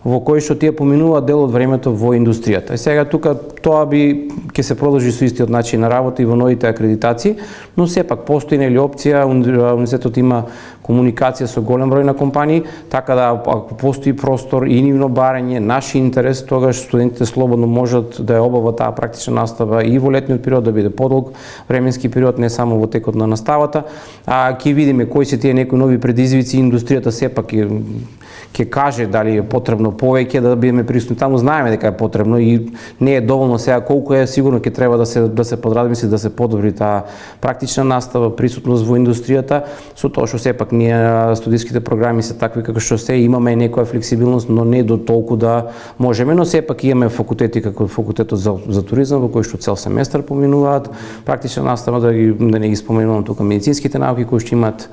во кој што тие поминуваат дел од времето во индустријата. И сега тука тоа ќе се продолжи со истиот начин на работа и во новите акредитации, но сепак постои опција, универзитетот има комуникација со голем број на компании, така да ако постои простор и нивно барање, наш интерес, тогаш студентите слободно можат да ја обават таа практична настава и во летниот период, да биде подолг временски период, не само во текот на наставата. Ќе видиме кои се тие некои нови предизвици, индустријата сепак ќе каже дали е потребно повеќе да бидеме присутни таму, знаеме дека е потребно и не е доволно сега колку е, сигурно ќе треба да се подразмисли, да се подобри таа практична настава, присутност во индустријата, со тоа што сепак ние студиските програми се такви како што се, имаме некоја флексибилност, но не до толку да можеме, но сепак имаме факултети како факултетот за туризам во кој што цел семестар поминуваат практична настава, да не ги споменувам тука медицинските науки кои што имаат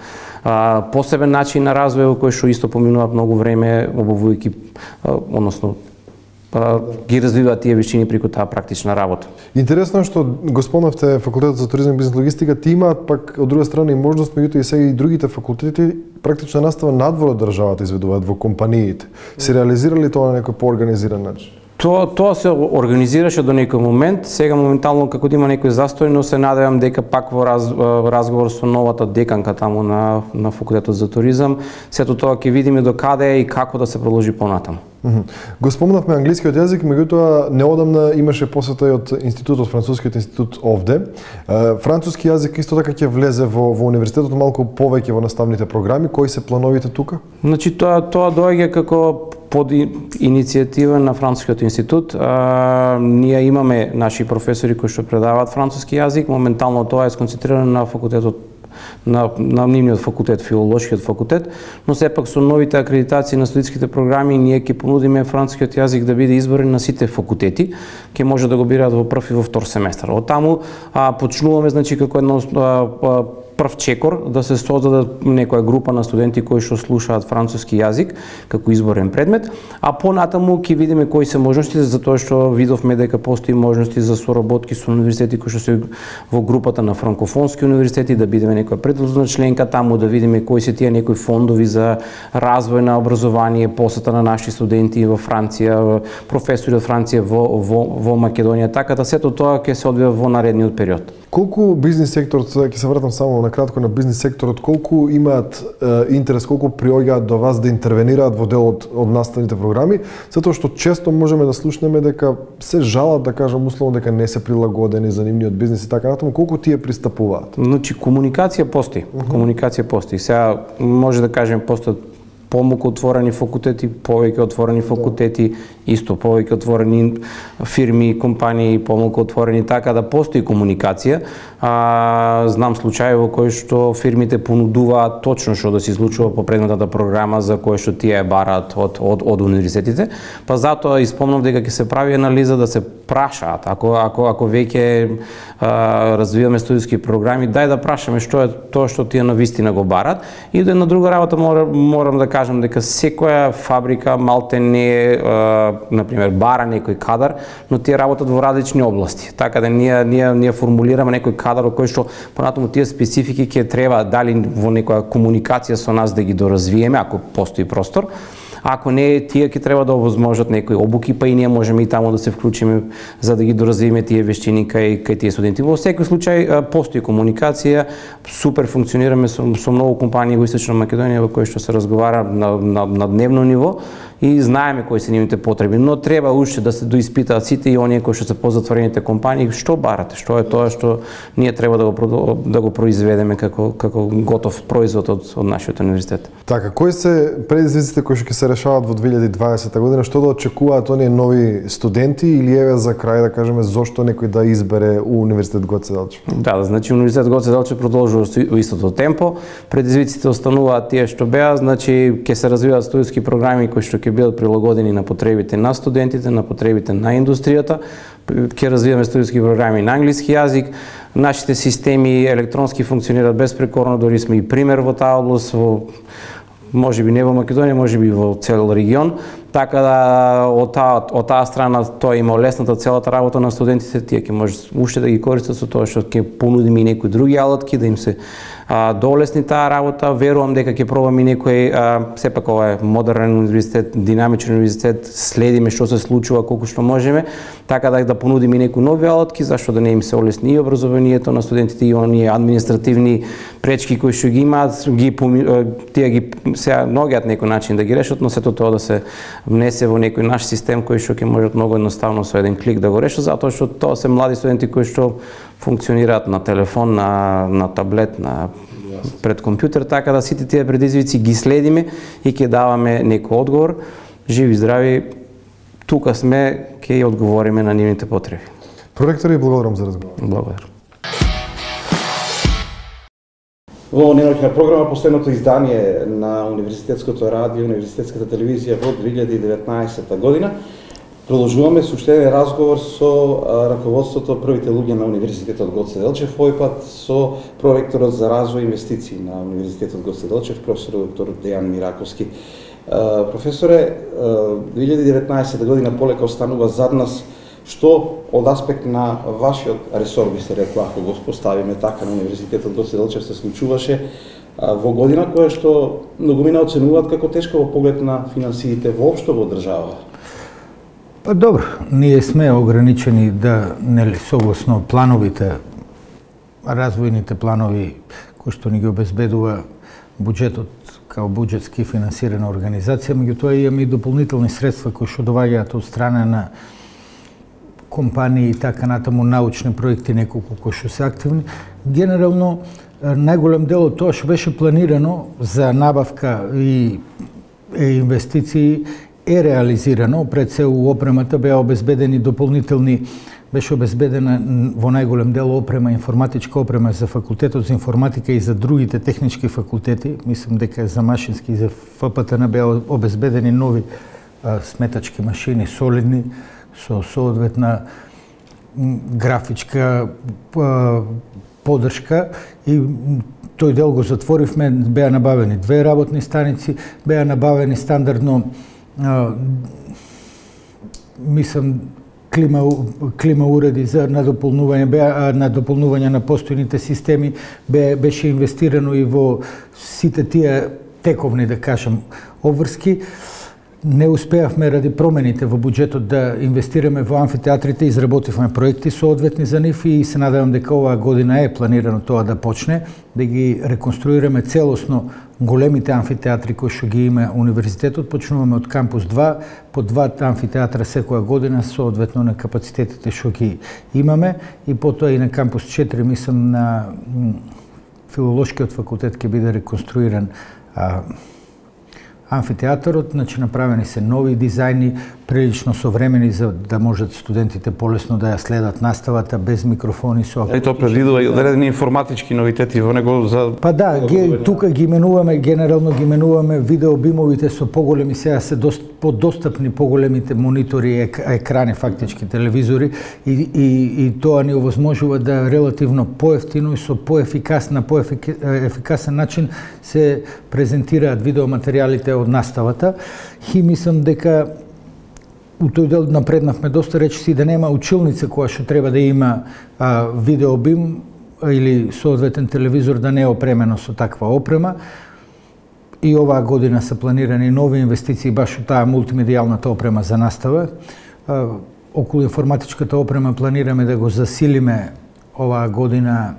посебен начин на развој во кој што исто поминуваат многу време обувувајќи, односно ги развиваат тие вештини преку таа практична работа. Интересно е што го спомнавте факултетот за туризам и бизнес логистика, ти имаат пак од друга страна и можност, меѓутоа и сега и другите факултети практична настава надвор од државата изведуваат во компаниите. Се реализирали тоа на некој поорганизиран начин? Тоа се организираше до некој момент, сега моментално како да има некој застој, но се надевам дека пак во разговор со новата деканка таму на факултетот за туризам, сето тоа ќе видиме до каде и како да се продолжи понатаму. Го спомнавме англискиот јазик, меѓутоа неодамна имаше посета и од институтот, францускиот институт овде. Француски јазик исто така ќе влезе во универзитетот малку повеќе во наставните програми. Кои се плановите тука? Значи тоа доаѓа како под иницијатива на Францускиот институт. Ние имаме наши професори кои што предаваат француски јазик. Моментално тоа е сконцентрирано на факултетот на нивниот факултет, филолошкиот факултет, но сепак со новите акредитации на студентските програми ние ќе понудиме францускиот јазик да биде изборен на сите факултети, ќе може да го бираат во прв и во втор семестар. Од таму почнуваме значи како едно прв чекор да се создаде некоја група на студенти кои што слушаат француски јазик како изборен предмет, а понатаму ќе видиме кои се можностите, затоа што видовме дека постои можности за соработки со универзитети кои што се во групата на франкофонски универзитети, да бидеме некоја предложна членка таму, да видиме кои се тие некои фондови за развој на образование, посета на наши студенти во Франција, професори од Франција во Македонија, така да сето тоа ќе се одвива во наредниот период. Колку бизнис секторот, ќе се вратам само на кратко на бизнис секторот, колку имаат интерес, колку приоѓаат до вас да интервенираат во делот од наставните програми, затоа што често можеме да слушнеме дека се жалат, да кажам условно, дека не се прилагодени за нивниот бизнис и така натаму, колку тие пристапуваат? Значи комуникација постои. Комуникација постои. Сега може да кажеме постојат помалку отворени факултети, повеќе отворени факултети, исто повеќе отворени фирми, компании, помалку отворени, така да постои комуникација. Знам случаи во кои што фирмите понудуваат точно што да се случува по предметната програма за која што тие бараат од универзитетите, па затоа испомнав дека ќе се прави анализа да се прашаат, ако веќе развиваме студиски програми, дај да прашаме што е тоа што тие навистина го барат. И да на друга работа морам да кажам дека секоја фабрика малте не е, например, бара некој кадар, но тие работат во различни области. Така да ние формулираме некој кадар во кој што понатаму тие специфики ќе треба дали во некоја комуникација со нас да ги доразвиеме, ако постои простор. Ако не, тие ќе треба да овозможат некои обуки, па и ние можеме и таму да се вклучиме за да ги доразвиеме тие вештини кај тие студенти. Во секој случај постои комуникација, супер функционираме со многу компании во Источна Македонија во кои што се разговара на дневно ниво и знаеме кои се нивните потреби, но треба уште да се доиспитаат сите и оние кои што се позатворените компании, што барате, што е тоа што ние треба да го произведеме како готов производ од нашиот универзитет. Така, кои се предизвиците кои што ќе се решават во 2020 година, што да очекуваат оние нови студенти или еве за крај да кажеме зошто некој да избере Универзитет Гоце Делчев? Да, значи Универзитет Гоце Делчев продолжува во истото темпо. Предизвиците остануваат тие што беа, значи ќе се развиваат студиски програми кои што ќе бидат прилагодени на потребите на студентите, на потребите на индустријата. Ќе развиваме студиски програми на англиски јазик. Нашите системи електронски функционираат безпрекорно, дори сме и пример во таа област, можеби не во Македонија, можеби во цел регион. Така да од таа страна тоа има олесната целата работа на студентите, тие ќе можат уште да ги користат со тоа што ќе понудиме и некои други алатки да им се доолесни таа работа. Верувам дека ќе пробаме и некој сепак ова е модерен универзитет, динамичен универзитет, следиме што се случува колку што можеме, така да понудиме и некои нови алатки, зашто да не им се олесни и образованието на студентите и оние административни пречки кои што ги имаат, тие ги сега наоѓаат некој начин да ги решат, но сето тоа да се внесе во некој наш систем кој што ќе можат многу едноставно со еден клик да го решат, затоа што тоа се млади студенти кои што функционираат на телефон, на таблет, пред компјутер, така да сите тие предизвици ги следиме и ќе даваме некој одговор. Живи здрави, тука сме, ќе одговориме на нивните потреби. Проректори, благодарам за разговор. Благодарам. Во неноќна програма, последното издание на Универзитетското радио, Универзитетската телевизија во 2019 година, продолжуваме со уште еден разговор со раководството, првите луѓе на Универзитетот Гоце Делчев, овој пат со проректорот за развој и инвестиции на Универзитетот Гоце Делчев, професор доктор Дејан Мираковски. Професоре, 2019 година полека останува зад нас, што од аспект на вашиот ресор, би се рекло, ако го поставиме така, на Универзитетот Гоце Делчев се случуваше во година која што многумина оценуваат како тешка во поглед на финансиите воопшто во држава? Па добро, ние сме ограничени да, нели, согласно плановите, развојните планови кои што ни ги обезбедува буџетот као буџетски финансирана организација, меѓутоа имаме и дополнителни средства кои што доаѓаат од страна на компании и така натаму, научни проекти, неколку кои што се активни. Генерално, најголем дел од тоа што беше планирано за набавка и инвестиции е реализирано. Пред се у опремата беа обезбедени дополнителни, беше обезбедена во најголем дел опрема, информатичка опрема за факултетот за информатика и за другите технички факултети. Мислам дека за машински и за ФПТН беа обезбедени нови сметачки машини, солидни, со соодветна графичка подршка, и тој дел го затворивме. Беа набавени 2 работни станици, беа набавени стандардно мислам клима уреди за надополнување на постојните системи, беше инвестирано и во сите тие тековни, да кажем, обврски. Не успеавме ради промените во буџетот да инвестираме во амфитеатрите, изработивме проекти соодветни за нив и се надевам дека оваа година е планирано тоа да почне, да ги реконструираме целосно големите амфитеатри кои што ги има универзитетот. Почнуваме од кампус 2, по 2 амфитеатра секоја година соодветно на капацитетите што ги имаме, и потоа и на кампус 4, мислам на филолошкиот факултет ќе биде реконструиран амфитеатарот, значи направени се нови дизајни, прилично современи за да можат студентите полесно да ја следат наставата без микрофони со. И тоа предвидува и одредени информатички новитети во него за. Па да, тука ги именуваме, генерално ги именуваме видеобимовите со поголеми, сега се подостапни поголемите монитори, екрани, фактички телевизори, и тоа ни овозможува да релативно поевтино и со поефикасен начин се презентираат видеоматеријалите од наставата. И мислам дека у тој дел напреднавме доста, речиси да нема училница која што треба да има видеобим или соодветен телевизор да не е опремено со таква опрема. И оваа година се планирани нови инвестиции баш во таа мултимедијалната опрема за настава. Околу информатичката опрема планираме да го засилиме оваа година,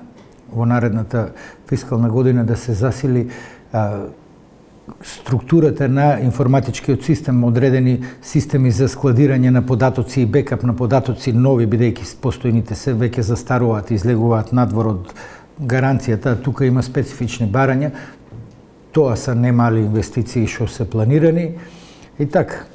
во наредната фискална година, да се засили структурата на информатичкиот систем, одредени системи за складирање на податоци и бекап на податоци, нови, бидејќи постојните се веќе застаруваат и излегуваат надвор од гаранцијата. Тука има специфични барања. Тоа се немали инвестиции што се планирани и така.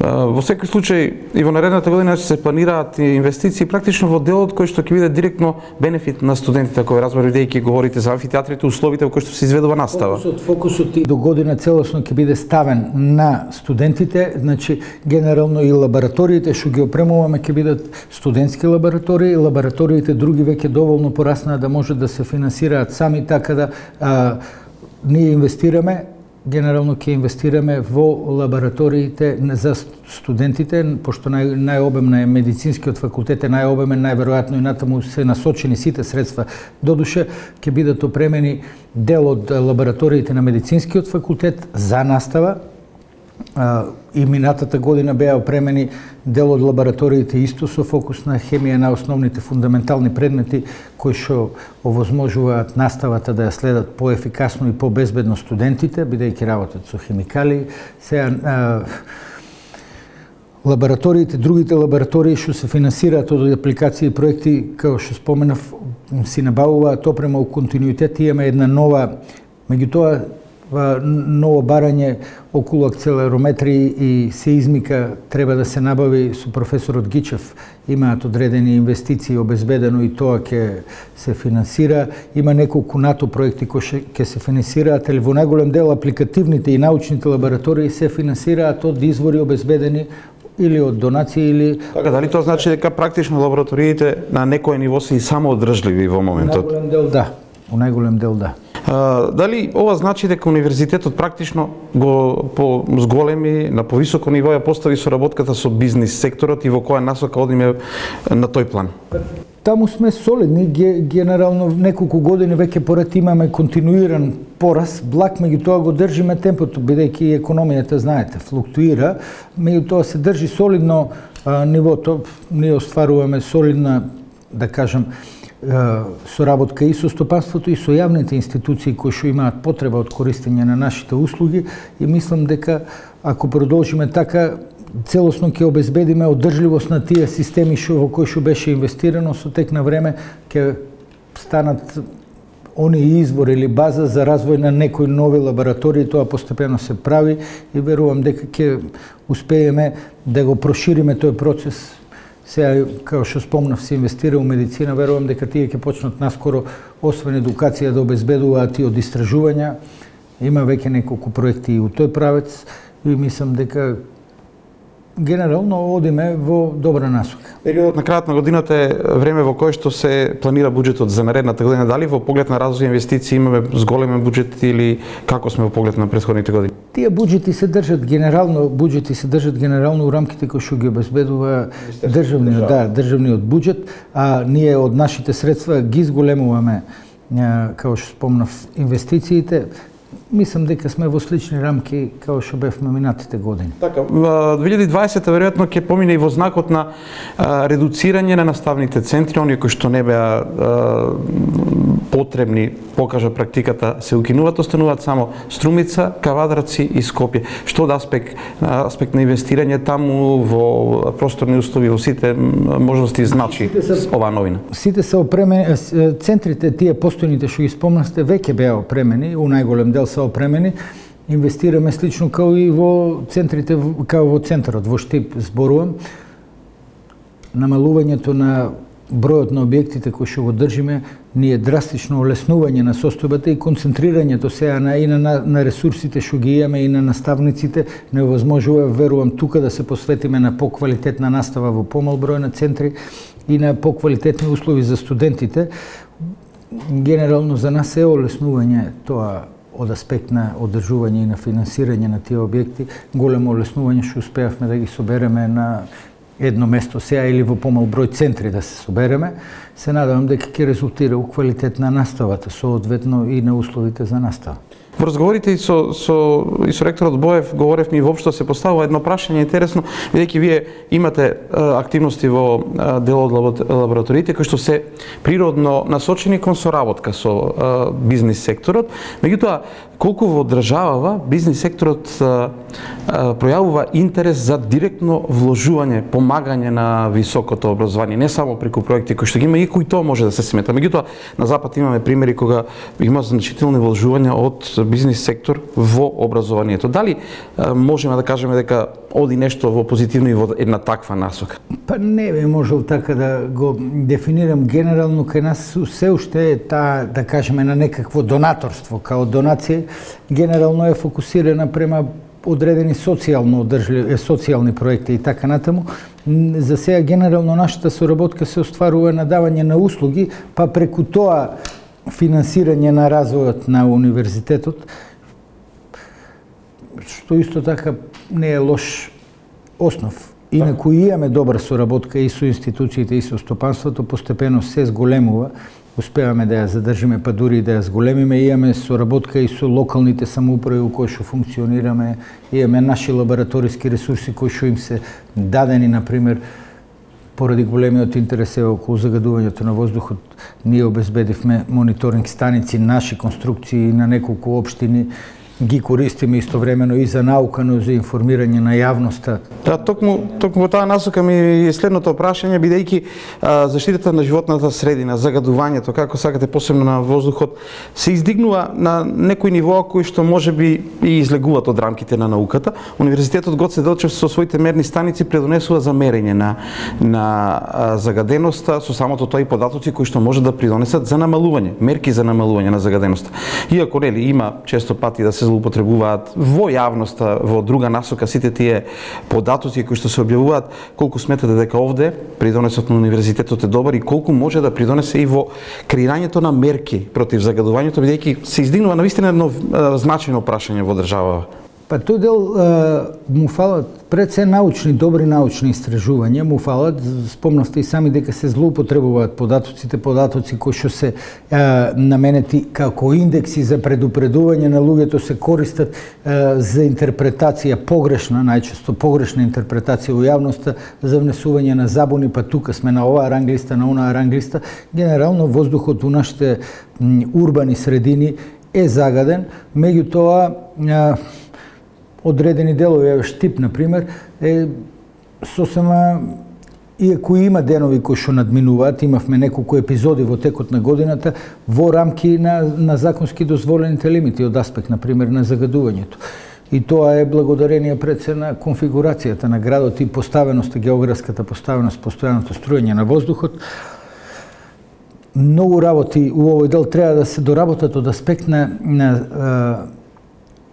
Во секој случај и во наредната година се планираат инвестиции практично во делот кој што ќе биде директно бенефит на студентите, кој разбира, бидејќи говорите за амфитеатрите, условите во кои што се изведува настава. Фокусот и до година целосно ќе биде ставен на студентите, значи генерално и лабораториите што ги опремуваме ќе бидат студентски лаборатории, лабораториите други веќе доволно пораснаа да може да се финансираат сами, така да ние инвестираме. Генерално ќе инвестираме во лабораториите за студентите, пошто најобемна е медицинскиот факултет, е најобемен, најверојатно и натаму се насочени сите средства. Додуше ќе бидат опремени дел од лабораториите на медицинскиот факултет за настава, и минатата година беа опремени дел од лабораториите исто со фокус на хемија на основните фундаментални предмети кои што овозможуваат наставата да ја следат поефикасно и побезбедно студентите, бидејќи работат со хемикали. Сега лабораториите, другите лаборатории што се финансираат од апликации и проекти, како што споменав, си набавуваат опрема у континуитет. Имаме една нова, меѓутоа ново барање околу акцелерометри и сеизмика треба да се набави со професорот Гичев. Имаат одредени инвестиции обезбедено и тоа ќе се финансира. Има неколку НАТО проекти кои ќе се финансираат, или во најголем дел апликативните и научните лаборатории се финансираат од извори обезбедени или од донации или. Така, дали тоа значи дека практично лабораториите на некој ниво се и самоодржливи во моментот? Во најголем дел да. Во најголем дел да. Дали ова значи дека универзитетот практично го зголеми на повисоко ниво ја постави соработката со бизнис секторот и во која насока одиме на тој план? Таму сме солидни, генерално неколку години веќе поред имаме континуиран пораст, благ меѓутоа го држиме темпото, бидејќи економијата, знаете, флуктуира, меѓутоа се држи солидно нивото, ние остваруваме солидна, да кажем, соработка и со стопанството и со јавните институции кои што имаат потреба од користење на нашите услуги и мислам дека ако продолжиме така, целосно ќе обезбедиме одржливост на тие системи во кои што беше инвестирано, со тек на време ќе станат оние извор или база за развој на некои нови лаборатории, тоа постепено се прави и верувам дека ќе успееме да го прошириме тој процес. Сега, како што спомнав, се инвестира у медицина, верувам дека тие ќе почнат наскоро, освен едукација, да обезбедуваат и од истражувања. Има веќе неколку проекти и у тој правец и мислам дека генерално одиме во добра насока. Периодот на крајот на годината е време во кое што се планира буџетот за наредната година. Дали во поглед на развој инвестиции имаме зголемен буџет или како сме во поглед на претходните години? Тие буџети се држат генерално у рамките кои што ги обезбедува државниот буџет, а ние од нашите средства ги зголемуваме, како што спомнав, инвестициите. Мислам дека сме во слични рамки како што бевме минатите години. Така, 2020 веројатно ќе помине и во знакот на редуцирање на наставните центри, оние кои што не беа потребни, покажа практиката, се укинуваат, остануваат само Струмица, Кавадарци и Скопје. Што од аспект на инвестирање таму во просторни услови, во сите можности значи оваа новина? Сите се опремени, центрите, тие постојните што ги спомнавте, веќе беа опремени, у најголем дел се опремени. Инвестираме слично као и во центрите, као во центарот, во Штип зборувам. Намалувањето на бројот на објектите кои што го држиме ни е драстично олеснување на состојбата и концентрирањето сега на ресурсите што ги имаме и на наставниците невозможува, верувам, тука да се посветиме на поквалитетна настава во помал број на центри и на поквалитетни услови за студентите. Генерално за нас е олеснување тоа од аспект на одржување и на финансирање на тие објекти, големо олеснување што успеавме да ги собереме на едно место сега или во помал број центри да се собереме. Се надевам дека ќе резултира у квалитет на наставата, соодветно и на условите за настава. Во разговорите и со ректорот Боев говоревме и воопшто се поставува едно прашање интересно, бидејќи вие имате активности во дел од лабораториите кои што се природно насочени кон соработка со бизнис секторот, меѓутоа колку во државава бизнис секторот пројавува интерес за директно вложување, помагање на високото образование, не само преку проекти кои што ги има и кои тоа може да се смета. Меѓутоа на запад имаме примери кога има значителни вложувања од бизнис сектор во образованието. Дали можеме да кажеме дека оди нешто во позитивно и во една таква насока? Па не би можел така да го дефинирам генерално, кај нас се уште е таа, да кажеме, на некакво донаторство, као донација, генерално е фокусирана према одредени социјални проекти и така натаму. За сега генерално нашата соработка се остварува на давање на услуги, па преку тоа финансирање на развојот на универзитетот, што исто така не е лош основ. Инаку имаме добра соработка и со институциите и со стопанството, постепено се зголемува, успеваме да ја задржиме, па дури и да ја зголемиме. Имаме соработка и со локалните самоуправи у кои што функционираме, имаме наши лабораториски ресурси кои што им се дадени, например, поради големиот интерес околу загадувањето на воздухот, ние обезбедивме мониторинг станици, наши конструкции на неколку општини, ги користиме истовремено и за наука, но и за информирање на јавноста. Да, токму во таа насока ми е следното прашање, бидејќи заштитата на животната средина, загадувањето, како сакате, посебно на воздухот, се издигнува на некои нивоа кои што можеби и излегуваат од рамките на науката. Универзитетот Гоце Делчев со своите мерни станици предонесува за мерење на загаденоста, со самото тоа и податоци кои што може да придонесат за намалување, мерки за намалување на загаденоста. Иако нели има често пати да се се злоупотребуваат во јавноста, во друга насока, сите тие податоци кои што се објавуваат, колку сметате дека овде придонесот на универзитетот е добар и колку може да придонесе и во креирањето на мерки против загадувањето, бидејќи се издигнува навистина едно значајно прашање во држава? Па тој дел му фалат пред се добри научни истражувања, му фалат, спомнавте и сами дека се злоупотребуваат податоци кои што се наменети како индекси за предупредување на луѓето, се користат за интерпретација погрешна, најчесто погрешна интерпретација во јавноста за внесување на забуни, па тука сме на оваа ранглиста, на онаа ранглиста. Генерално воздухот у нашите урбани средини е загаден, меѓутоа одредени делови, Штип, например, е сосема, иако има денови кои што надминуваат, имавме неколку епизоди во текот на годината, во рамки на законски дозволените лимити, од аспект, например, на загадувањето. И тоа е благодарение пред се на конфигурацијата на градот и поставеноста, географската поставеност, постојаното струјање на воздухот. Многу работи у овој дел треба да се доработат од аспект на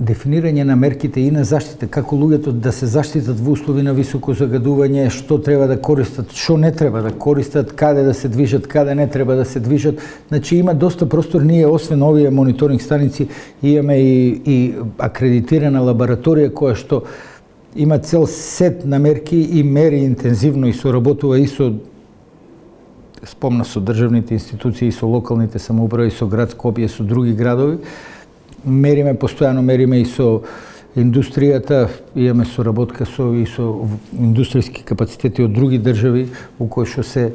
дефинирање на мерките и на заштита, како луѓето да се заштитат во услови на високо загадување, што треба да користат, што не треба да користат, каде да се движат, каде не треба да се движат. Значи има доста простор, ние освен овие мониторинг станици имаме и акредитирана лабораторија која што има цел сет на мерки и мери интензивно и соработува и со со државните институции, и со локалните самоуправи, и со град Скопје, со други градови. Мериме, постојано мериме и со индустријата, имаме соработка и со индустријски капацитети од други држави, у кои што се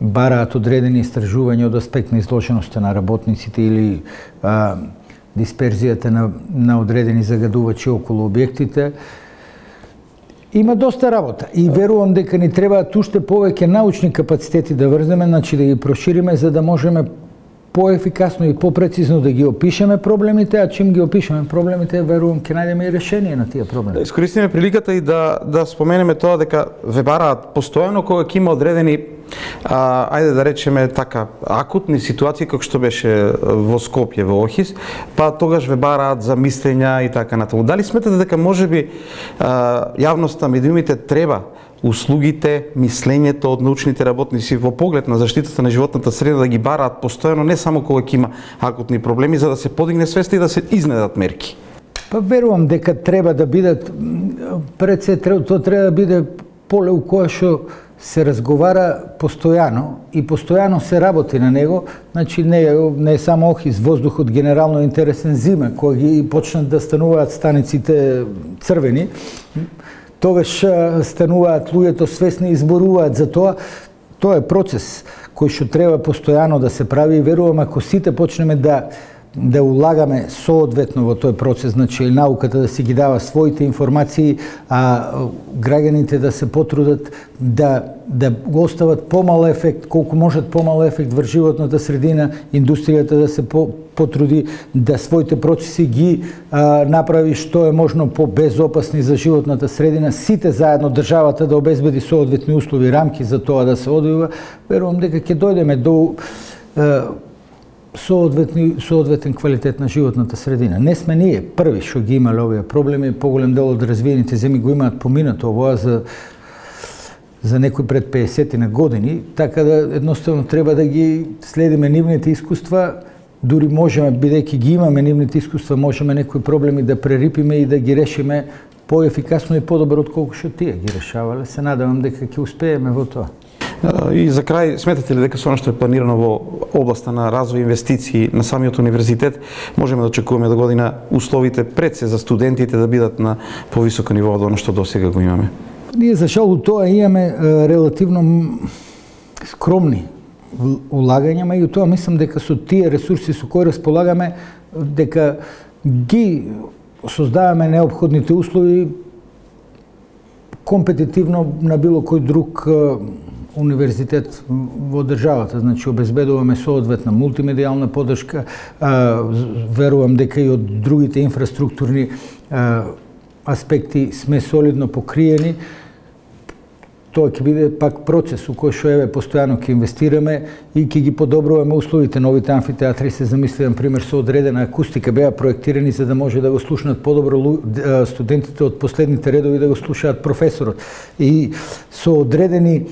бараат одредени истражувања од аспект на изложеноста на работниците или дисперзијата на одредени загадувачи околу објектите. Има доста работа и верувам дека ни требаат уште повеќе научни капацитети да врземе, значи да ги прошириме за да можеме поефикасно и попрецизно да ги опишеме проблемите, а чим ги опишеме проблемите, верувам ќе најдеме и решение на тие проблеми. Да искористиме приликата и да споменеме тоа дека ве бараат постојано кога ќе има одредени ајде да речеме така акутни ситуации како што беше во Скопје во Охис, па тогаш ве бараат за мислења и така натаму. Дали сметате дека можеби јавноста, медиумите треба услугите, мислењето од научните работници во поглед на заштитата на животната средина да ги бараат постојано, не само кога ќе има акутни проблеми, за да се подигне свеста и да се изнедат мерки? Па верувам дека треба да бидат, пред се тоа треба да биде поле у кое што се разговара постојано и постојано се работи на него. Значи не е само Охис, воздухот генерално е интересен зима, кога ги почнат да стануваат станиците црвени, тогаш стануваат луѓето свесни и изборуваат за тоа. Тоа е процес кој што треба постојано да се прави и верувам ако сите почнеме да улагаме соодветно во тој процес, значи науката да си ги дава своите информации, а граѓаните да се потрудат да го остават помал ефект, колку можат помал ефект врз животната средина, индустријата да се потруди да своите процеси ги направи што е можно по-безопасни за животната средина, сите заедно државата да обезбеди соодветни услови, рамки за тоа да се одвива, верувам дека ќе дојдеме до соодветен квалитет на животната средина. Не сме ние први што ги имале овие проблеми, поголем дел од развиените земји го имаат поминато овоа за некои пред 50 на години, така да едноставно треба да ги следиме нивните искуства, дури можеме, бидејќи ги имаме нивните искуства, можеме некои проблеми да прерипиме и да ги решиме поефикасно и подобро отколку што тие ги решавале. Се надевам дека ќе успееме во тоа. И за крај, сметате ли дека со она што е планирано во областа на развој инвестиции на самиот универзитет, можеме да очекуваме до година условите пред се за студентите да бидат на повисоко ниво од она што досега го имаме? Ние за жал тоа имаме релативно скромни улагања, меѓутоа мислам дека со тие ресурси со кои располагаме, дека ги создаваме неопходните услови компетитивно на било кој друг универзитет во државата. Значи, обезбедуваме соодветна мултимедијална поддршка, верувам дека и од другите инфраструктурни аспекти сме солидно покриени. тоа ќе биде пак процес у кој што еве постојано ќе инвестираме и ќе ги подобруваме условите. Новите амфитеатри се замисли, на пример, со одредена акустика, беа проектирани за да може да го слушнат подобро студентите од последните редови, да го слушаат професорот. И со одредени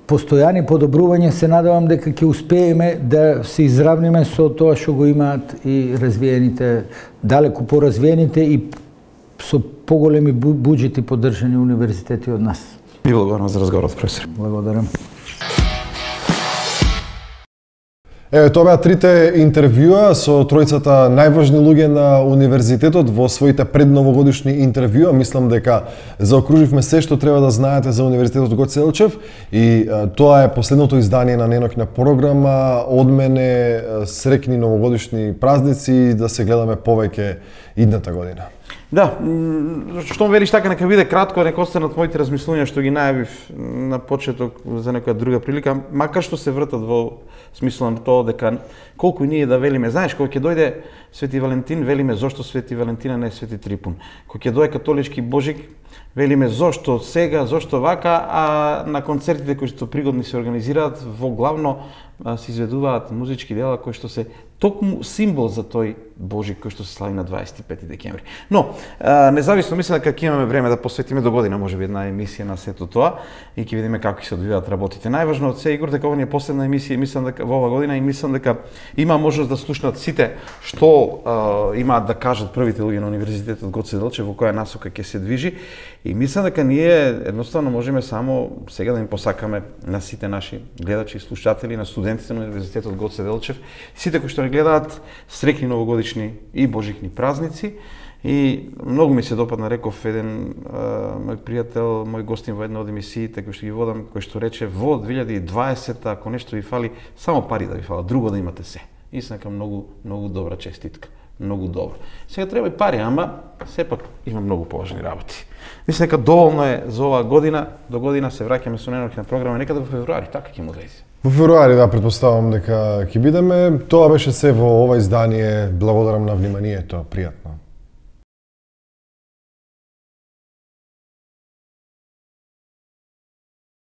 постојани подобрувања се надевам дека ќе успееме да се изравниме со тоа што го имаат и развиените, далеку поразвиените и со поголеми буџети поддржани универзитети од нас. И благодарам за разговорот, професор. Благодарам. Еве, тоа беа трите интервјуа со тројцата најважни луѓе на универзитетот во своите предновогодишни интервјуа. Мислам дека заокруживме се што треба да знаете за Универзитетот Гоце Делчев и тоа е последното издание на неноќна програма. Од мене среќни новогодишни празници и да се гледаме повеќе идната година. Да, што велиш така, нека биде кратко, нека останат моите размислувања што ги најавив на почеток за некоја друга прилика, макар што се вртат во смисла на тоа дека колку и ние да велиме, знаеш, кога ќе дојде Свети Валентин, велиме зошто Свети Валентина не е Свети Трипун. Кога ќе дојде католички Божик, велиме зошто сега, зошто вака, а на концертите кои што пригодни се организираат, во главно се изведуваат музички дела кои што се токму символ за тој Божик кој што се слави на 25 декември. Но, независно, мислам дека ќе имаме време да посветиме до година, можеби една емисија на сето тоа и ќе видиме како ќе се одвиваат работите. Најважно од се, Игор, дека ова ни е последна емисија, мислам дека во ова година и мислам дека има можност да слушнат сите што имаат да кажат првите луѓе на Универзитетот Гоце Делчев, во која насока ќе се движи. И мислам дека ние едноставно можеме само сега да им посакаме на сите наши гледачи и слушатели, на студентите на Универзитетот Гоце Делчев, сите кои што ни гледаат, среќни новогодишни и божикни празници. И многу ми се допадна, реков еден мој пријател, мој гостин во една од емисиите кој што ги водам, кој што рече во 2020 ако нешто ви фали, само пари да ви фала, друго да имате се. И се нека многу добра честитка, многу добро. Сега треба и пари, ама сепак има многу поважни работи. Мислам дека доволно е за оваа година, до година се враќаме со неноќна програма, некаде во февруари, така ќе му дојде. Во февруари, да, предпоставам дека ќе бидеме. Тоа беше се во ова издание. Благодарам на вниманието. Пријатно.